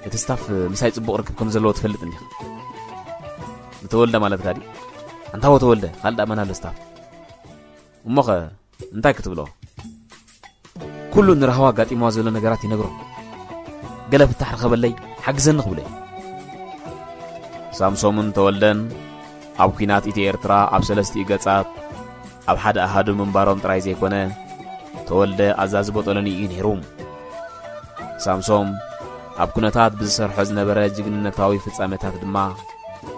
እቲ ስታፍ ምሳይ ጽቡቕ ርክብ ከም ዘለዎ ትፈልጥ እንዲኻ? ንተወልደ ማለትካ ድዩ? ኣንታ ወ ተወልደ፣ ካልእ ደኣ መን ኣሎ ስታፍ? እሞኸ እንታይ ክትብሎ? ኩሉ ንራህዋ ኣጋጢምዋ ዘሎ ነገራት ይነግሮ። ገለ ፍታሕ ርኸበለይ፣ ሓግዘኒ ክብሎ እዩ። ሳምሶምን ተወልደን ኣብ ኲናት ኢትዮ ኤርትራ ኣብ ሰለስቲኡ ገጻት ኣብ ሓደ ኣሃዱ ምንባሮም ጥራይ ዘይኮነ፣ ተወልደ ኣዛዚ ቦጦሎኒ እዩ ነይሩ። ሳምሶም ኣብ ኩነታት ብዝሰርሖ ዝነበረ ጅግንነታዊ ፍጻሜታት ድማ፣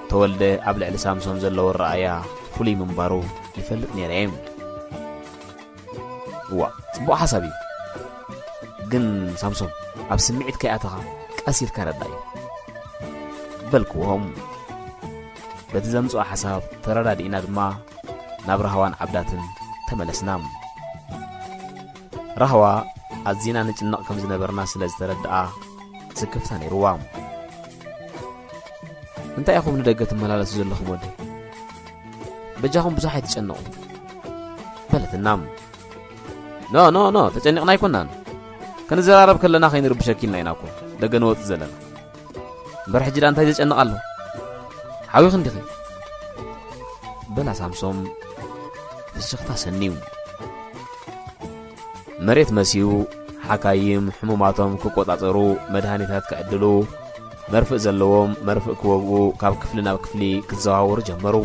ተወልደ ኣብ ልዕሊ ሳምሶም ዘለዎ ኣረኣእያ ፍሉይ ምንባሩ ይፈልጥ ነይረ እየ። "እዋ፣ ጽቡቕ ሓሳብ እዩ። ግን ሳምሶም፣ ኣብ ስምዒት ከይኣተኻ ቀስ ኢልካ ረዳእዮ" በልክዎም። በቲ ዘምጽኦ ሓሳብ ተረዳዲእና ድማ ናብ ራህዋን ዓብዳትን ተመለስና። ራህዋ ኣዚና ንጭነቕ ከም ዝነበርና ስለ ዝተረድኣ ስክፍታ ነይርዋ። "እንታይ ኢኹም ንደገ ትመላለሱ ዘለኹም ወደይ? በጃኹም ብዙሕ ኣይትጨነቑ" በለትና። "ኖ፣ ኖ፣ ኖ፣ ተጨኒቕና ኣይኮናን። ክንዘራረብ ከለና ከይንርብሸኪ ኢልና ኢና እኮ ደገ ንወጽእ ዘለና። እምበር ሕጂ ደኣ እንታይ ዘጨንቕ ኣሎ? ዓብኺ እንዲኺ? በላ ሳምሶም ፍሽኽታ ሰንዩ። መሬት መስዩ ሓካይም ሕሙማቶም ክቆጻጸሩ፣ መድሃኒታት ክዕድሉ፣ መርፍእ ዘለዎም መርፍእ ክወግኡ ካብ ክፍሊ ናብ ክፍሊ ክዘዋወሩ ጀመሩ።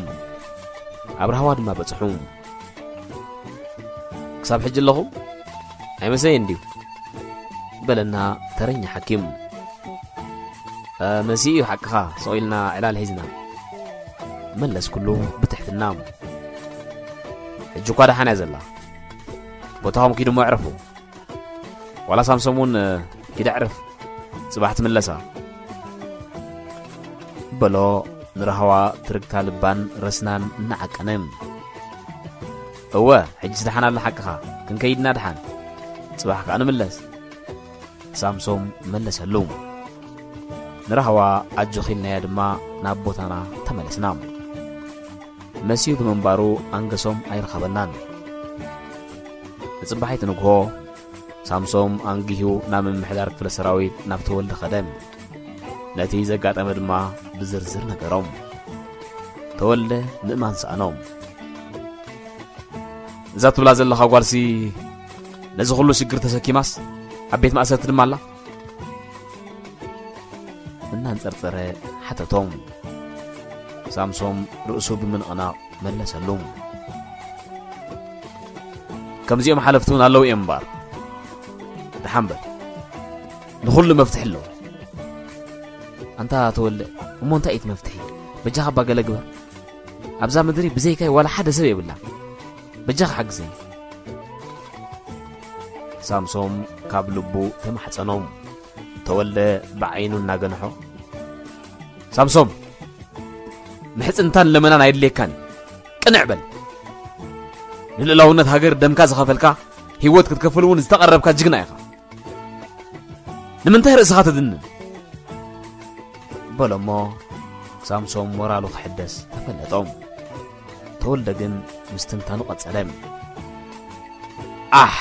ኣብ ራህዋ ድማ በጽሑ። "ክሳብ ሕጂ ኣለኹም? ኣይመሰየን ድዩ?" በለና ተረኛ ሓኪም። "እ፣ መሲኡ እዩ ሓቅኻ፣ ስቕ ኢልና ዕላል ሒዝና" መለስኩሉ ብትሕትና። "ሕጂ እኳ ደሓን እያ ዘላ። ቦታኹም ኪዱ እሞ ዕረፉ። ዋላ ሳምሶም እውን፣ እ፣ ኪድ ኣዕርፍ፣ ጽባሕ ትምለሳ" በሎ ንራህዋ ትርግታ ልባን ረስናን እናዓቀነ። "እወ፣ ሕጂስ ደሓን ኣላ ሓቅኻ፣ ክንከይድና ደሓን፣ ጽባሕ ከኣ ንምለስ" ሳምሶም መለሰሉ። ንራህዋ ኣጆኺ ኢልናያ ድማ ናብ ቦታና ተመለስና። መስዩ ብምንባሩ ኣንገሶም ኣይረኸበናን። ንጽባሒት ንግሆ ሳምሶም ኣንጊሁ ናብ ምምሕዳር ክፍለ ሰራዊት ናብ ተወልደ ኸደ። ነቲ ዘጋጠመ ድማ ብዝርዝር ነገሮም። ተወልደ ምእማን ሰኣኖም። "እዛ ትብላ ዘለኻ ጓልሲ ነዚ ኩሉ ሽግር ተሰኪማስ ኣብ ቤት ማእሰርቲ ድማ ኣላ?" እናንጸርጸረ ሓተቶም። ሳምሶም ርእሱ ብምንቕናቕ መለሰሉ። "ከምዚኦም ሓለፍቲ እውን ኣለዉ እዮም እምበኣር። ደሓን በል፣ ንኹሉ መፍትሒ ኣለዎ." "ኣንታ ተወልደ፣ እሞ እንታይ እዩ እቲ መፍትሒ? በጃኻ እባ ገለ ግበር። ኣብዛ ምድሪ ብዘይካይ ዋላ ሓደ ሰብ የብላ። በጃኻ ሓግዘኒ" ሳምሶም ካብ ልቡ ተማሕጸኖም። ተወልደ ብዓይኑ እናገንሖ፣ "ሳምሶም፣ ምሕጽንታን ለመናን ኣየድልየካን እዩ። ቅንዕ በል። ንልእላውነት ሃገር ደምካ ዝኸፈልካ፣ ህይወት ክትከፍል እውን ዝተቐረብካ ጅግና ኢኻ። ንምንታይ ርእስኻ ተድንን?" በሎሞ ሳምሶም ሞራሉ ክሕደስ ተፈለጦም። ተወልደ ግን ምስትንታኑ ቀጸለ። "ኣሕ!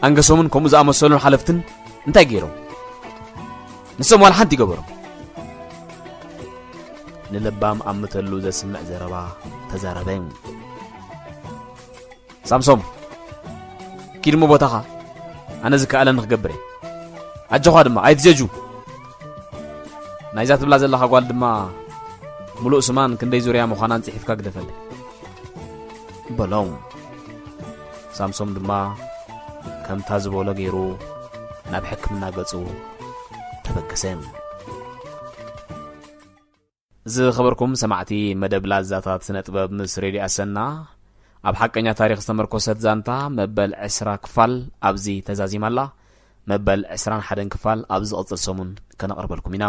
ኣንገሶምን ከምኡ ዝኣመሰሉን ሓለፍትን እንታይ ገይሮም? ንሶም ዋላ ሓንቲ ይገበሮም?" ንለባም ኣምተሉ ዘስምዕ ዘረባ ተዛረበ። "ሳምሶም፣ ኪድ እሞ ቦታኻ፣ ኣነ ዝከኣለኒ ክገብር እየ። ኣጆኻ ድማ ኣይትጀጁ። ናይዛ ትብላ ዘለኻ ጓል ድማ ምሉእ ስማን ክንደይ ዙርያ ምዃናን ጽሒፍካ ግደፈለይ" በሎም። ሳምሶም ድማ ከምታ ዝበሎ ገይሩ ናብ ሕክምና ገጹ ተበገሰ። ዝኸበርኩም ሰማዕቲ መደብ ላዛታት ስነ ጥበብ ምስ ሬድዮ ኣሰና፣ ኣብ ሓቀኛ ታሪኽ ዝተመርኮሰት ዛንታ መበል ዕስራ ክፋል ኣብዚ ተዛዚማ ኣላ። መበል ዕስራን ሓደን ክፋል ኣብ ዝቕጽል ሰሙን ከነቕርበልኩም ኢና።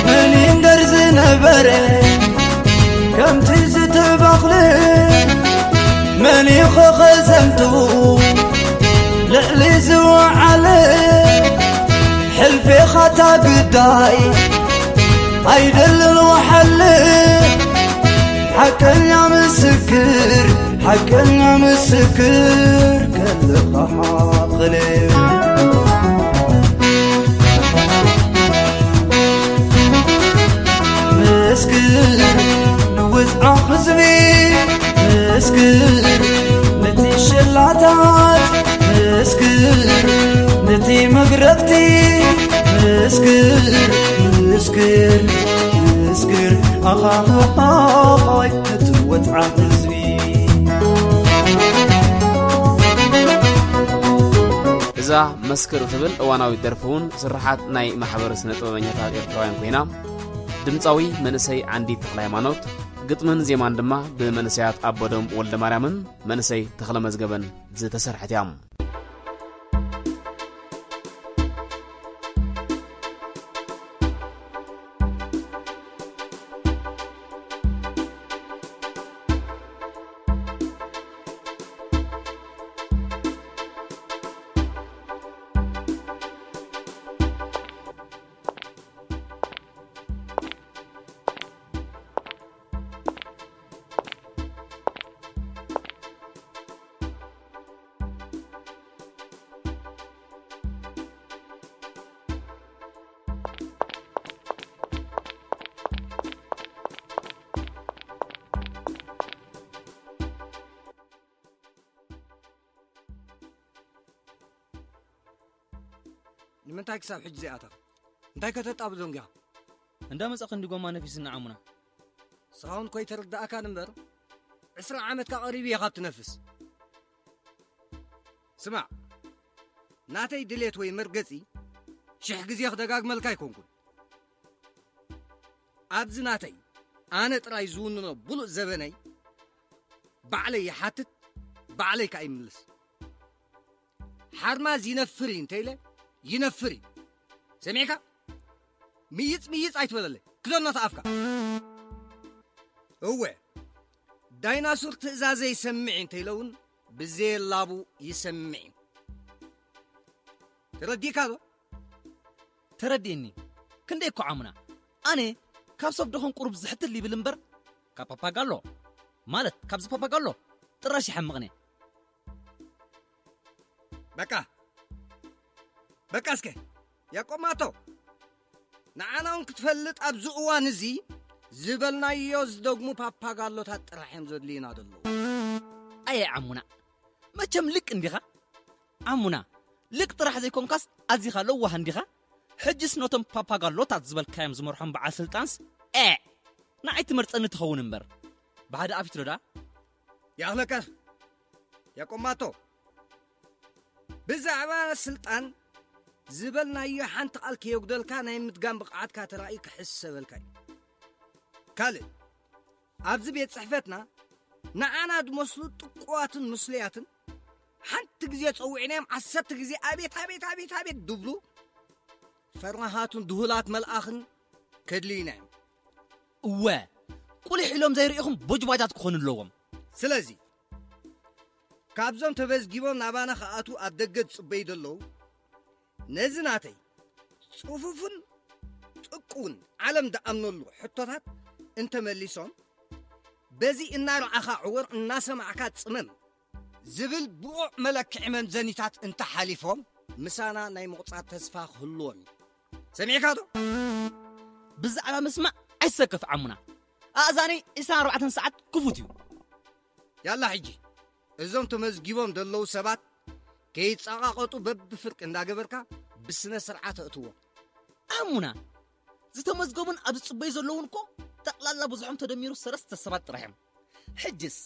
መን ይንገር ዝነበረ ከምቲ ዝተባኽለ፣ መን ይኸኸ ዘምቱ ልዕሊ ዝወዓለ፣ ሕልፌኻታ ግዳይ ኣይደልን ወሓለ። ሓቀኛ ምስክር፣ ሓቀኛ ምስክር ከለኻ ሓቕለ። ምስክር ንውፅዓ ህዝቢ፣ ምስክር ነቲ ሸላታት፣ ምስክር ነቲ መግረፍቲ፣ ምስክር፣ ምስክር፣ ምስክር ኣኻኻይ ነቲ ወፅዓ ህዝቢ። እዛ መስክር እትብል እዋናዊት ደርፊ እውን ስርሓት ናይ ማሕበር ስነ ጥበበኛታት ኤርትራውያን ኮይና፣ ድምፃዊ መንእሰይ ዓንዲት ተኽለ ሃይማኖት፣ ግጥምን ዜማን ድማ ብመንእሰያት ኣቦዶም ወልደ ማርያምን መንእሰይ ተኽለ መዝገበን ዝተሰርሐት እያ። ንምንታይ ክሳብ ሕጂ ዘይኣተኻ? እንታይ ከተጣብዞ እንጊኻ? እንዳ መጻ ክንዲ ጎማ ነፊስና ዓሙና። ንስኻ እውን ኮይተረዳእካን እምበር፣ ዕስራ ዓመትካ ቀሪቡ እየ ካብ ትነፍስ። ስማዕ፣ ናተይ ድሌት ወይ መርገጺ ሽሕ ግዜ ክደጋግመልካ ኣይኮንኩን። ኣብዚ ናተይ ኣነ ጥራይ ዝውንኖ ብሉጽ ዘበነይ ባዕለይ ይሓትት፣ ባዕለይ ከኣ ይምልስ። ሓርማዝ ይነፍር እዩ እንተኢለ ይነፍር እዩ። ሰሚዕካ? ምይጽ ምይጽ ኣይትበለለይ። ክደኖ ተኣፍካ። እወ፣ ዳይናሱር ትእዛዘ ይሰምዕ እዩ እንተኢለ እውን ብዘየላቡ ይሰምዕ እዩ። ተረዲእካ ዶ? ተረዲእኒ። ክንደይ እኮ ዓሙና። ኣነ ካብ ሰብ ደኾን ቁሩብ ዝሕትል ይብል እምበር፣ ካብ ፓፓጋሎ፣ ማለት ካብዚ ፓፓጋሎ ጥራሽ ይሓምቕኒ። በቃ፣ በቃ እስከ፣ ያቆማቶ። ንዓና እውን ክትፈልጥ ኣብዚ እዋን እዚ ዝበልናዮ ዝደግሙ ፓፓጋሎታት ጥራሕ እዮም ዘድልዩና ዘለዉ። ኣየ ዓሙና፣ መቸም ልቅ እንዲኻ? ዓሙና፣ ልቅ ጥራሕ ዘይኮንካስ ኣዚኻ ለዋህ እንዲኻ? ሕጅስ ነቶም ፓፓጋሎታት ዝበልካዮም ዝመርሖም በዓል ስልጣንስ፣ ኤዕ! ንዓይ ትመርጸኒ ትኸውን እምበር። ብሓደ ኣፊት ዶ ደኣ? ያኽለካ፣ ያቆማቶ። ብዛዕባ ስልጣን ዝበልናዮ ሓንቲ ቃል ከየጉደልካ ናይ ምድጋም ብቕዓትካ ተራእዩ ክሕሰበልካ እዩ። ካልእ፣ ኣብዚ ቤት ጽሕፈትና ንዓና ዝመስሉ ጥቁዋትን ምስሉያትን ሓንቲ ግዜ ጸዊዕናዮም ዓሰርተ ግዜ ኣቤት፣ ኣቤት፣ ኣቤት፣ ኣቤት ድብሉ ፈራሃቱን ድሁላት መልኣኽን ከድልዩና እዮም። እወ፣ ቁሊሕ ኢሎም ዘይርእኹም ቦጅባጃት ክኾኑ ኣለዎም። ስለዚ፣ ካብዞም ተመዝጊቦም ናባና ክኣትዉ ኣብ ደገ ዝጽበዩ ዘለዉ፣ ነዚ ናተይ ጽፉፍን ጥቁውን ዓለም ዝኣምነሉ ሕቶታት እንተመሊሶም፣ በዚ እናረኣኻ ዕወር እናሰማዕካ ጽመም ዝብል ብቑዕ መለክዒ መምዘኒታት እንተሓሊፎም፣ ምሳና ናይ ምቑጻር ተስፋ ክህልዎም እዩ። ሰሚዕካ ዶ? ብዛዕባ ምስማዕ ኣይትሰከፍ ዓሙና። ኣእዛነይ ዕስራን ኣርባዕተን ሰዓት ክፉት እዩ። ያላ ሕጂ፣ እዞም ተመዝጊቦም ዘለዉ ሰባት ከይጸቓቐጡ በብፍርቂ እንዳገበርካ ብስነ ስርዓት ኣእትዎም። ዓሙና፣ ዝተመዝገቡን ኣብ ዝጽበዩ ዘለዉን እኮ ጠቕላላ ብዙሖም ተደሚሩ ሰለስተ ሰባት ጥራሕ እዮም። ሕጅስ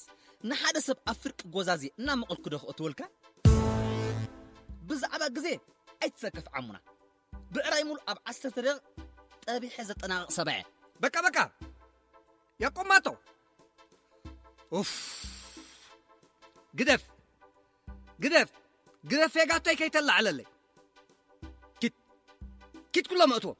ንሓደ ሰብ ኣብ ፍርቂ ጎዛዜ እናመቐልኩ ዶ ክእትወልካ? ብዛዕባ ግዜ ኣይትሰከፍ ዓሙና። ብዕራይ ሙሉ ኣብ ዓሰርተ ደቂቕ ጠቢሐ ዘጠናቕቕ ሰብኣየ። በቃ፣ በቃ። ያቆማቶ። ኡፍ። ግደፍ። ግደፍ። ግደፍ፣ ፌጋቶይ ከይተላዕለለይ። ኪድ። ኪድ ኩሎም እእትዎም።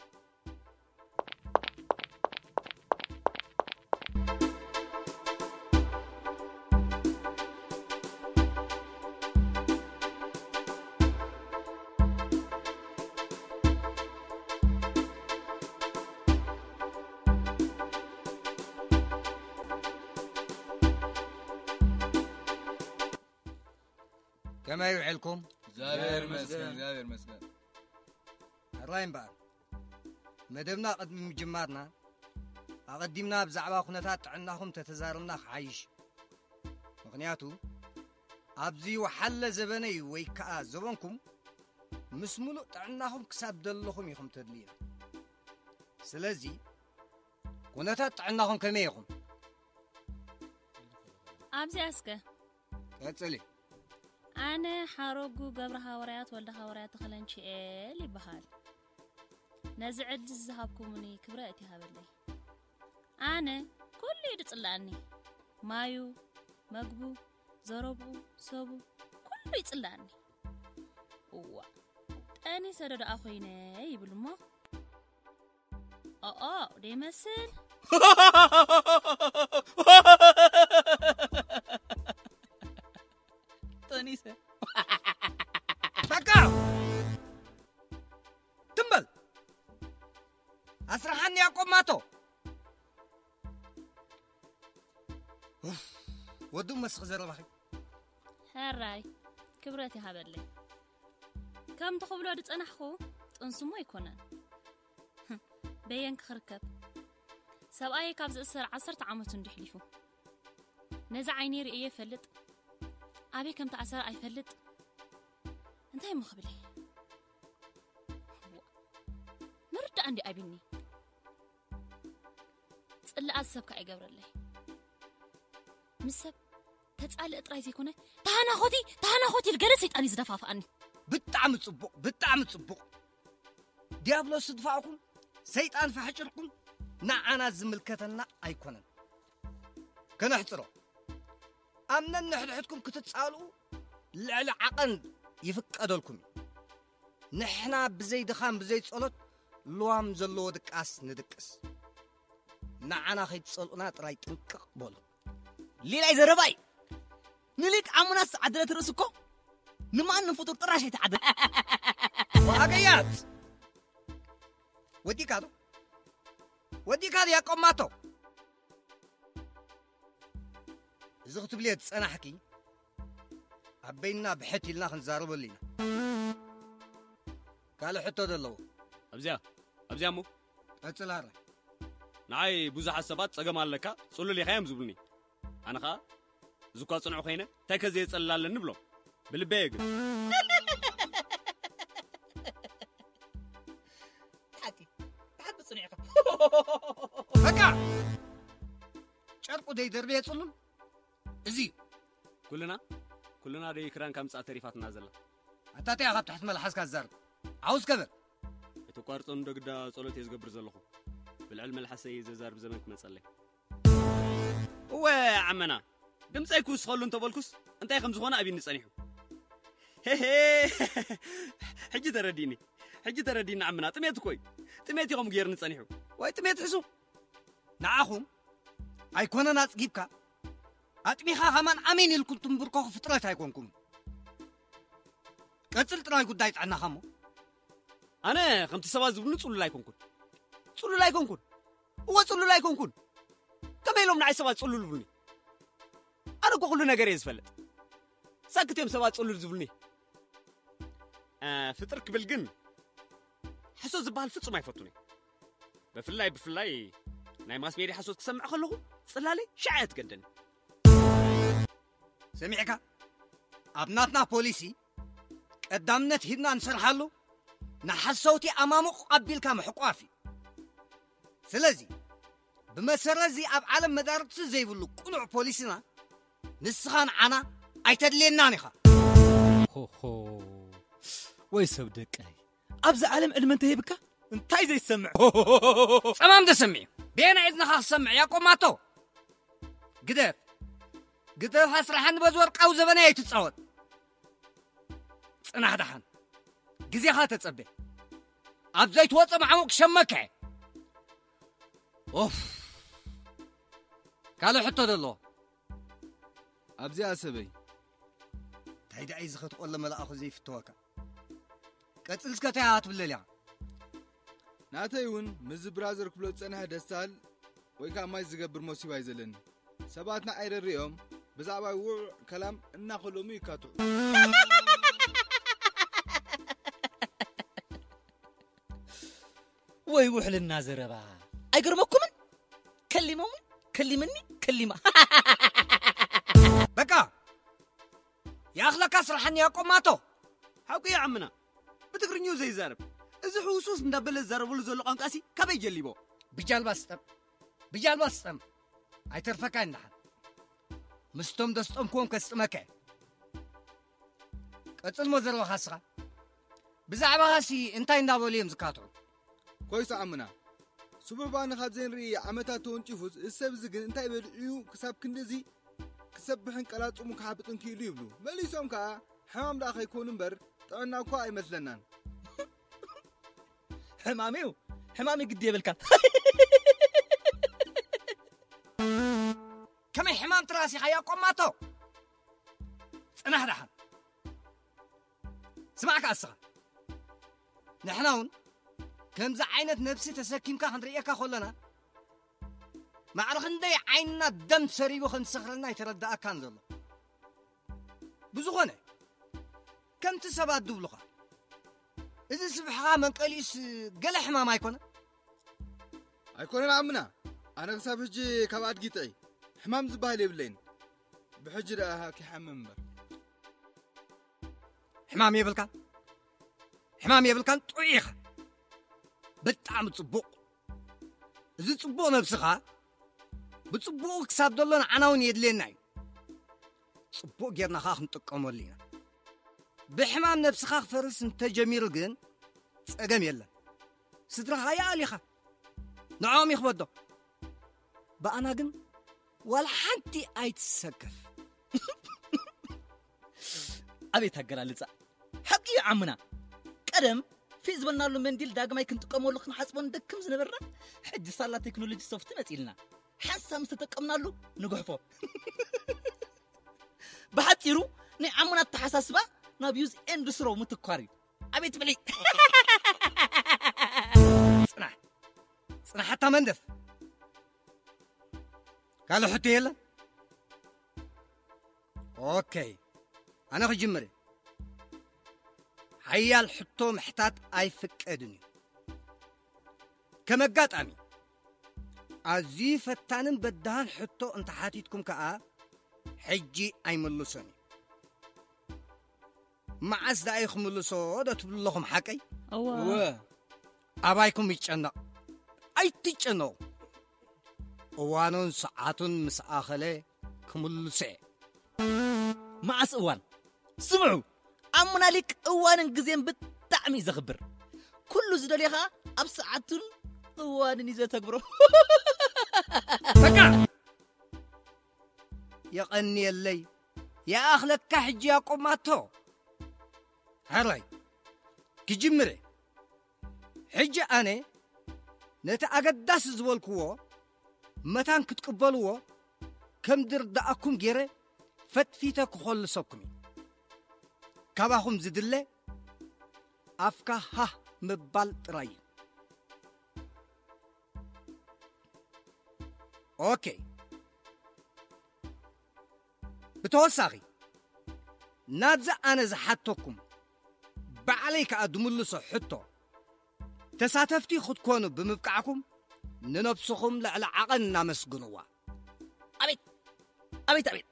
ከመይ ውዕልኩም? እግዚኣብሔር ይመስገን፣ እግዚኣብሔር ይመስገን። ሕራይ እምበኣር፣ መደብና ቅድሚ ምጅማርና፣ ኣቐዲምና ብዛዕባ ኩነታት ጥዕናኹም ተተዛረብና ክሓይሽ። ምኽንያቱ፣ ኣብዚ ወሓለ ዘበነይ ወይ ከኣ ዘበንኩም፣ ምስ ሙሉእ ጥዕናኹም ክሳብ ዘለኹም ኢኹም ተድልዩና። ስለዚ፣ ኩነታት ጥዕናኹም ከመይ ኢኹም? ኣብዚኣ እስከ። ቀጽሊ። ኣነ ሓረጉ ገብረ ሃዋርያት ወልደ ሃዋርያት ተኽለንቺኤል ይበሃል። ነዚ ዕድል ዝሃብኩምኒ ክብረት ይሃበለይ። ኣነ ኩሉ እዩ ዝጽልኣኒ። ማዩ፣ መግቡ፣ ዘረብኡ፣ ሰቡ፣ ኩሉ ይጽልኣኒ። እዋ፣ ጠኒሰ ዶ ደኣ ኮይነ ይብል እሞ? ኦኦ፣ ደይመስል። ጠኒሰ። በቃ! ትም በል! ኣስርሓኒ ያቆማቶ። ኡፍ፣ ወዱ መስኽ ዘረባኺ። ሕራይ፣ ክብረት ይሃበለይ። ከም ትኽብሎ ዝጸናሕኩ ጥንስሞ ኣይኮነን። በየን ክኽርከብ? ሰብኣየ ካብ ዝእሰር ዓሰርተ ዓመቱ እንዲሕ ሊፉ። ነዚ ዓይነይ ርእየ ይፈልጥ። ኣበይ ከም ተኣሰረ ኣይፈልጥ። እንታይ እሞ ክብል እየ? ደኣ እንዲ ኣቢኒ። ጽላኣት ሰብ ከኣ ይገብረለይ። ምስ ሰብ ተጻልእ ጥራይ ዘይኮነ፣ ተሃናኾቲ፣ ተሃናኾቲ ኢሉ ገለ ሰይጣን እዩ ዝደፋፍኣኒ። ብጣዕሚ ጽቡቕ፣ ብጣዕሚ ጽቡቕ። ዲያብሎስ ዝድፋእኩም፣ ሰይጣን ፈሕጭርኩም፣ ንዓና ዝምልከተና ኣይኮነን። ከነሕጽሮ። ኣብ ነንሕድሕድኩም ክትጻልኡ ልዕሊ ዓቐን ይፍቀደልኩም እዩ። ንሕና ብዘይ ድኻም፣ ብዘይ ጸሎት፣ ልዋም ዘለዎ ድቃስ ንድቅስ። ንዓና ከይትጸልኡና ጥራይ ጥንቅቕ በሉ። ሌላይ ዘረባይ። ንሊቅ ዓሙናስ ዓደለት ርእሲ እኮ ንማንም ፍጡር ጥራሽ ኣይትዓደል። ዋሃገያት። ወዲካ ዶ? ወዲካ ዶ ያቆማቶ? እዚ ክትብልዮ ዝጸናሕኪ፣ ኣብ በይንና ብሕት ኢልና ክንዛረበሉ ኢና። ካልእ ሕቶ ዘለዎ? ኣብዚኣ፣ ኣብዚኣ እሞ? ቀጽል፣ ኣረ። ንዓይ ብዙሓት ሰባት ጸገም ኣለካ፣ ጽሉል ኢኻ እዮም ዝብሉኒ። ኣነ ኸኣ፣ እዚ እኳ ጽኑዕ ኮይነ፣ እንታይ ከ ዘየጸልል ኣለኒ ብሎም። ብልበየ ግን። ብሓቂ፣ ብሓቂ ጽኑዕ ኢኻ። በቃ! ጨርቁ ደይደርበየ ጽሉል። እዚ እዩ። ኩልና፣ ኩልና ደይ ክዳን ካብ ምጻእ ተሪፋትና ዘላ። ኣታ እንታይ ኢኻ ኣብ ትሕቲ መልሓስካ ትዛረብ? ዓውስ ከበር። ኣይተቋርጾ እንዶ ግዳ ጸሎት እየ ዝገብር ዘለኹ። ብልዕሊ መልሓሰይ ዘዛርብ ዘመን ክመጸለይ። እወ ዓመና፣ ድምጸይ ክውስኸሉ እንተበልኩስ እንታይ ከም ዝኾነ ኣቢኒ ጸኒሑ። ሄሄ፣ ሕጂ ተረዲእኒ። ሕጂ ተረዲእኒ ዓመና፣ ጥሜት እኮ እዩ። ጥሜት እዩ ከምኡ ገይርኒ ጸኒሑ። ወይ ጥሜት ሕሱም። ንዓኹም ኣይኮነን ኣጽጊብካ፣ ኣጥሚኻ ከማን ኣሜን ኢልኩም ትንብርከኹ ፍጥረት ኣይኮንኩም። ቀጽል ጥራይ ጉዳይ ጥዕናኻ እሞ። ኣነ ከምቲ ሰባት ዝብሉኒ ጽሉል ኣይኮንኩን። ጽሉል ኣይኮንኩን። እወ ጽሉል ኣይኮንኩን። ከመይ ኢሎም ንዓይ ሰባት ጽሉል ይብሉኒ? ኣነ እኮ ኩሉ ነገር እየ ዝፈልጥ። ሳክት እዮም ሰባት ጽሉል ዝብሉኒ። እ፣ ፍጥር ክብል ግን ሓሶት ዝበሃል ፍጹም ኣይፈቱን እየ። ብፍላይ፣ ብፍላይ ናይ ማስ ሜድያ ሓሶት ክሰምዕ ከለኹ ጽላለይ ሽዓ እያ ትገደኒ። ሰሚዕካ? ኣብ ናትና ፖሊሲ ቀዳምነት ሂብና ንሰርሓሉ ንሓሰውቲ ኣማሙቕ ኣቢልካ ምሕቋፍ እዩ። ስለዚ፣ ብመሰረት እዚ ኣብ ዓለም መዳርግቲ ዘይብሉ ቅኑዕ ፖሊሲና፣ ንስኻ ንዓና ኣይተድልየናን ኢኻ። ሆሆ፣ ወይ ሰብ ደቀይ፣ ኣብዚ ዓለም ዕድመ እንተሂብካ እንታይ ዘይሰምዕ? ጸማም ተሰሚዑ። በየናይ እዝንኻ ክሰምዕ ያቆማቶ? ግደፍ። ግደፍ ኣስራሓኒ በዚ ወርቃዊ ዘበነይ ኣይትጻወት። ጽናሕ ደሓን። ግዜኻ ተጸበ። ኣብ ዘይትወጾ መዓሙቕ ክሸመካ እየ። ኦፍ። ካልእ ሕቶ ዶ ኣለዎ? ኣብዚኣ ሰበይ። እንታይ ደኣ እዩ ዝኸትቆለ መልኣኹ ዘይፍተወካ? ቀጽል እስከ እንታይ ኣትብለል እያ? ናተይ እውን ምስዚ ብራዘር ክብሎ ዝጸንሐ ደስታል ወይ ከዓ ማይ ዝገብር መሲባ እዩ ዘለኒ። ሰባት ንዓይ ረሪኦም ብዛዕባ ውዕ ከላም እናኸለሙ ይካትዑ። ወይ ውሕልና ዘረባ። ኣይገርመኩምን? ከሊሞምን ከሊምኒ ከሊማ። በቃ ይኣኽለካ ስራሕኒ ያቆማቶ። ሓቁ እዩ ዓምና። ብትግርኝኡ ዘይዛረብ። እዚ ሕውስውስ እንዳበለ ዝዛረበሉ ዘሎ ቋንቋሲ ካበይ ጀሊቦ? ብጃልባ ስጠም። ብጃልባ ስጠም። ኣይተርፈካ ይንደሓን። ምስቶም ደስጠምክዎም ከስጥመካ እየ። ቀጽልሞ ዘረባኻ እስኻ። ብዛዕባኻሲ እንታይ እንዳበሉ እዮም ዝካትዑ? ኮይሱ ዓምና። ስቡሕ ባኒ ካብ ዘይንርኢ ዓመታት ተወንጪፉስ እዚ ሰብ እዚ ግን እንታይ በሊዑ እዩ ክሳብ ክንድዚ ክሰብሕን ቀላጽሙ ክሓብጥን ክኢሉ ይብሉ። መሊሶም ከኣ ሕማም ደኣ ከይኮኑ እምበር ጥዕና እኳ ኣይመስለናን። ሕማም እዩ ሕማም እዩ ግዲ የብልካን። ከመይ ሕማም ትራስ ኢኻ ያቆማቶ? ጽናሕ ደሓን። ስማዕ ከኣ እስኻ። ንሕና እውን ከምዚ ዓይነት ነብሲ ተሰኪምካ ክንርእየካ ከለና ማዕረ ክንደይ ዓይንና ደም ሰሪቡ ከም ዝሰኽረና ኣይተረዳኣካን ዘሎ። ብዝኾነ ከምቲ ሰባት ዝብሉኻ እዚ ስብሕኻ መንቀሊኡስ ገለ ሕማም ኣይኮነ? ኣይኮነን ዓምና ኣነ ክሳብ ሕጂ ካብ ኣድጊ ጥዒ ሕማም ዝበሃል የብለይን። ብሕጂ ደኣ ክሓምም እምበር። ሕማም የብልካን ሕማም የብልካን ጥዑይ ኢኻ። ብጣዕሚ ጽቡቕ። እዚ ጽቡቕ ነብስኻ ብጽቡቕ ክሳብ ዘሎ ንዓና እውን የድልየና እዩ። ጽቡቕ ጌርና ኸኣ ክንጥቀመሉ ኢና። ብሕማም ነብስኻ ክፈርስ እንተጀሚሩ ግን ጸገም የለን። ስድራኻ ይኣል ኢኻ። ንዕኦም ይኽበዶ። ብኣና ግን ዋላ ሓንቲ ኣይትሰከፍ። ኣቤት ኣገላልጻ! ሓቂ እዩ ዓምና። ቀደም ፊእ ዝበልናሉ መንዲል ዳግማይ ክንጥቀመሉ ክንሓጽቦ ንደክም ዝነበርና፣ ሕጂ ሳላ ቴክኖሎጂ ሶፍቲ መጺልና። ሓንሳብ ምስ ተጠቀምናሉ ንጉሕፎ። ብሓጺሩ ናይ ዓምና ኣተሓሳስባ ናብ ዩዝ ኤንድ ስሮ ምትኳር እዩ። ኣቤት ብልሒ! ጽናሕ! ጽናሕ ኣታ መንደፍ! ካልእ ሕቶ የለን? ኦኬ፣ ኣነ ክጅምር እየ። ሓያል ሕቶ ምሕታት ኣይፍቀድን እዩ። ከም ኣጋጣሚ፣ ኣዝዩ ፈታንን በዳህን ሕቶ እንተሓቲትኩም ከኣ፣ ሕጂ ኣይምልሶን እዩ። መዓስ ደኣ እዩ ክምልሶ ዶ ትብሉ ኣለኹም፣ ሓቀይ? እወ። እወ። ኣባይኩም ይጨነቕ። ኣይትጨነቑ። እዋኑን ሰዓቱን ምስ ኣኸለ ክምልሶ እየ። መዓስ እዋን? ስምዑ፣ ኣሙና ሊቅ እዋንን ግዜን ብጣዕሚ እዩ ዘኽብር። ኩሉ ዝደልዮ ኸኣ ኣብ ሰዓቱን እዋንን እዩ ዘተግብሮ። በቃ! የቐንየለይ። ይኣኽለካ ሕጂ ያቆብ ማቶ። ሕራይ፣ ክጅምር እየ። ሕጂ ኣነ ነቲ ኣገዳሲ ዝበልክዎ መታን ክትቅበልዎ ከም ዝርድኣኩም ገይረ ፈትፊተ ክኾልሰኩም እዩ። ካባኹም ዝድለ ኣፍካ ሃህ ምባል ጥራይ እዩ። ኦኬ። ብተወሳኺ፣ ናብዚ ኣነ ዝሓተኩም፣ ባዕለይ ከኣ ዝምልሶ ሕቶ፣ ተሳተፍቲ ክትኮኑ ብምብቃዕኩም፣ ንነብስኹም ልዕሊ ዓቐን እናመስግንዋ። ኣቤት! ኣቤት፣ ኣቤት!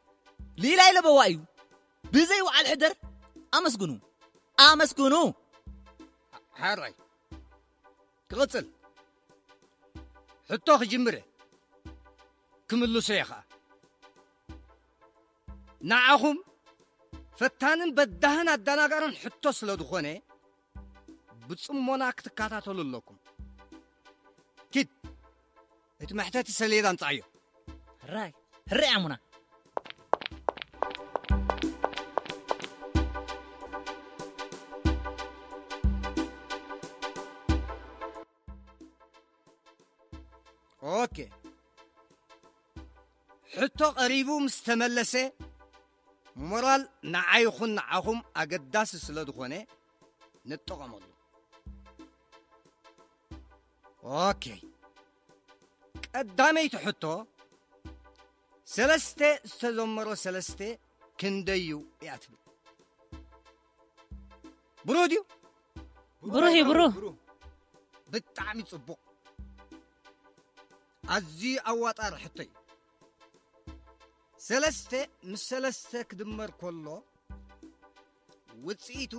ሊላይ ለበዋ እዩ። ብዘይ ውዓል ሕደር ኣመስግኑ። ኣመስግኑ! ሓራይ። ክቕጽል። ሕቶ ክጅምር እየ። ክምልሶ እየ ኸኣ። ንዓኹም ፈታንን በዳህን ኣደናጋርን ሕቶ ስለ ዝኾነ፣ ብጽሞና ክትከታተሉ ኣለኩም። ኪድ፣ እቲ መሕተቲ ሰሌዳ ኣምጽኣዮ። ሕራይ፣ ሕራይ ኣሙና። ኦኬ። ሕቶ ቀሪቡ ምስ ተመለሰ፣ ሞራል ንዓይ ይኹን ንዓኹም ኣገዳሲ ስለ ዝኾነ፣ ንጠቐመሉ። ኦኬ። ቀዳመይቲ ሕቶ፣ ሰለስተ ዝተዘመሮ ሰለስተ ክንደይ እዩ እያ ትብል። ብሩህ ድዩ? ብሩህ እዩ፣ ብሩህ። ብጣዕሚ ጽቡቕ። ኣዝዩ ኣዋጣሪ ሕቶ እዩ። ሰለስተ ምስ ሰለስተ ክድመር ከሎ ውጽኢቱ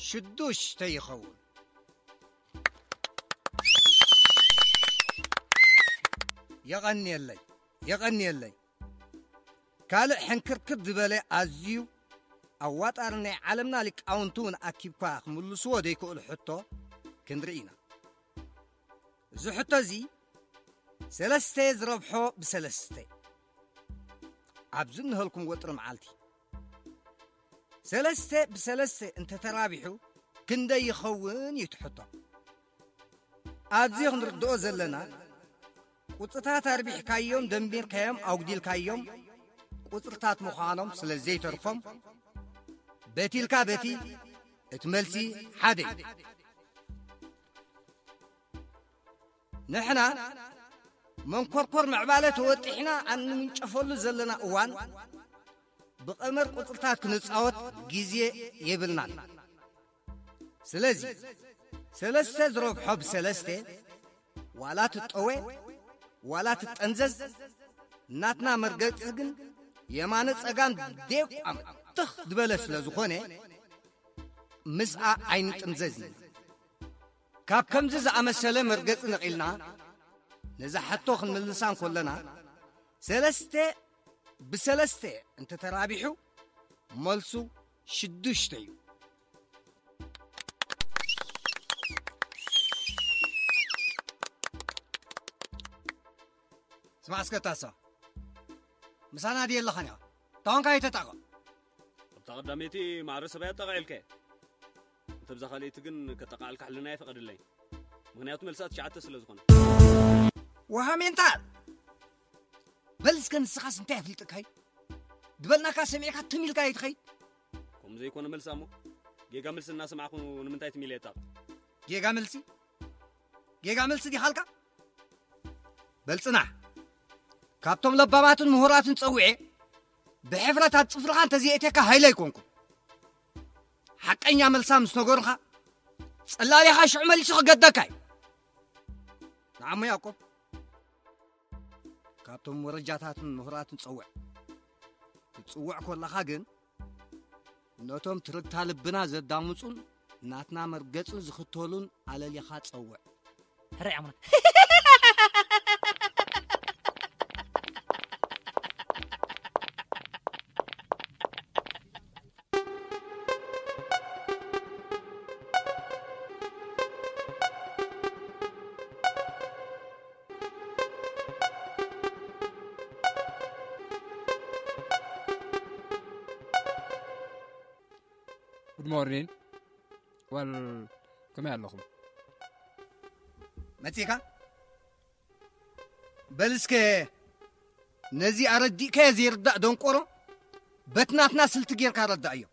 ሽዱሽተ ይኸውን። የቐንየለይ፣ የቐንየለይ። ካልእ ሕንክርክር ዝበለ ኣዝዩ ኣዋጣሪ ናይ ዓለምና ሊቃውንቲ እውን ኣኪብካ ክምልስዎ ዘይክእሉ ሕቶ ክንርኢ ኢና። እዚ ሕቶ እዚ ሰለስተ ዝረብሖ ብሰለስተ ኣብዚ እንሀልኩም ወጥሪ መዓልቲ ሰለስተ ብሰለስተ እንተተራቢሑ ክንደይ ይኸውን እዩ እቲ ሕቶ። ኣብዚ ክንርድኦ ዘለና ቁጽርታት ኣርቢሕካዮም፣ ደሚርካዮም፣ ኣጉዲልካዮም ቁጽርታት ምዃኖም ስለ ዘይተርፎም በቲ ኢልካ በቲ እቲ መልሲ ሓደ እዩ። ንሕና መንኮርኮር ምዕባለ ተወጢሕና ኣብ ንምንጨፈሉ ዘለና እዋን ብቐመር ቁጽርታት ክንጻወት ግዜ የብልናን። ስለዚ ሰለስተ ዝረብሖ ብሰለስተ ዋላ ትጠወ ዋላ ትጠንዘዝ፣ ናትና መርገጺ ግን የማነ ጸጋም ዴቋም ትኽ ዝበለ ስለ ዝኾነ ምስኣ ኣይንጥምዘዝን። ካብ ከምዚ ዝኣመሰለ መርገጺ ነቒልና ነዛ ሕቶ ክንምልሳ እንከለና፣ ሰለስተ ብሰለስተ እንተተራቢሑ መልሱ ሽዱሽተ እዩ። ስማዕ እስከ ታሳ፣ ምሳና ድየ ኣለኻን ኢኻ? ታዋንካ ኣይተጣቐ። ኣብታ ቀዳመይቲ ማዕረ ሰብኣይ ኣጣቓዒልካዮ። እንተ ብዛ ካልኣይቲ ግን ከጠቓዕልካ ሕልና ኣይፈቐደለይን። ምኽንያቱ መልሳ ትሽዓተ ስለ ዝኾነ። ወሃሜንታ! በል እስከ ንስኻስ እንታይ ኣፍሊጥካይ? ድበልናካ ሰሚዕካ ትም ኢልካ ኣይትኸይድ? ከምኡ ዘይኮነ መልሳ እሞ፣ ጌጋ መልሲ እናሰማዕኩ ንምንታይ ትም ኢለ የጣቕ? ጌጋ መልሲ? ጌጋ መልሲ ዲኻልካ? በል ጽናሕ። ካብቶም ለባማትን ምሁራትን ጸዊዐ፣ ብሕፍረት ኣብ ጽፍርኻ እንተዘይእትየካ ሃይለ ኣይኮንኩን። ሓቀኛ መልሳ ምስ ነገሩኻ፣ ጸላሊኻ ሽዑ መሊሱ ክገደካ እዩ። ንዓሞ ያዕቆብ፣ ካብቶም ወረጃታትን ምሁራትን ጸውዕ። ክትጽውዕ ከለኻ ግን፣ ነቶም ትርግታ ልብና ዘዳምጹን ናትና መርገጽን ዝኽተሉን ኣለሊኻ ጸውዕ። ሕራይ ዓሙና። Good morning. Well, ከመይ ኣለኹም? መጺኻ? በል እስከ ነዚ ኣረዲእካዮ ዘይርዳእ ደንቆሮ በቲ ናትና ስልቲ ጌርካ ረዳእዮ።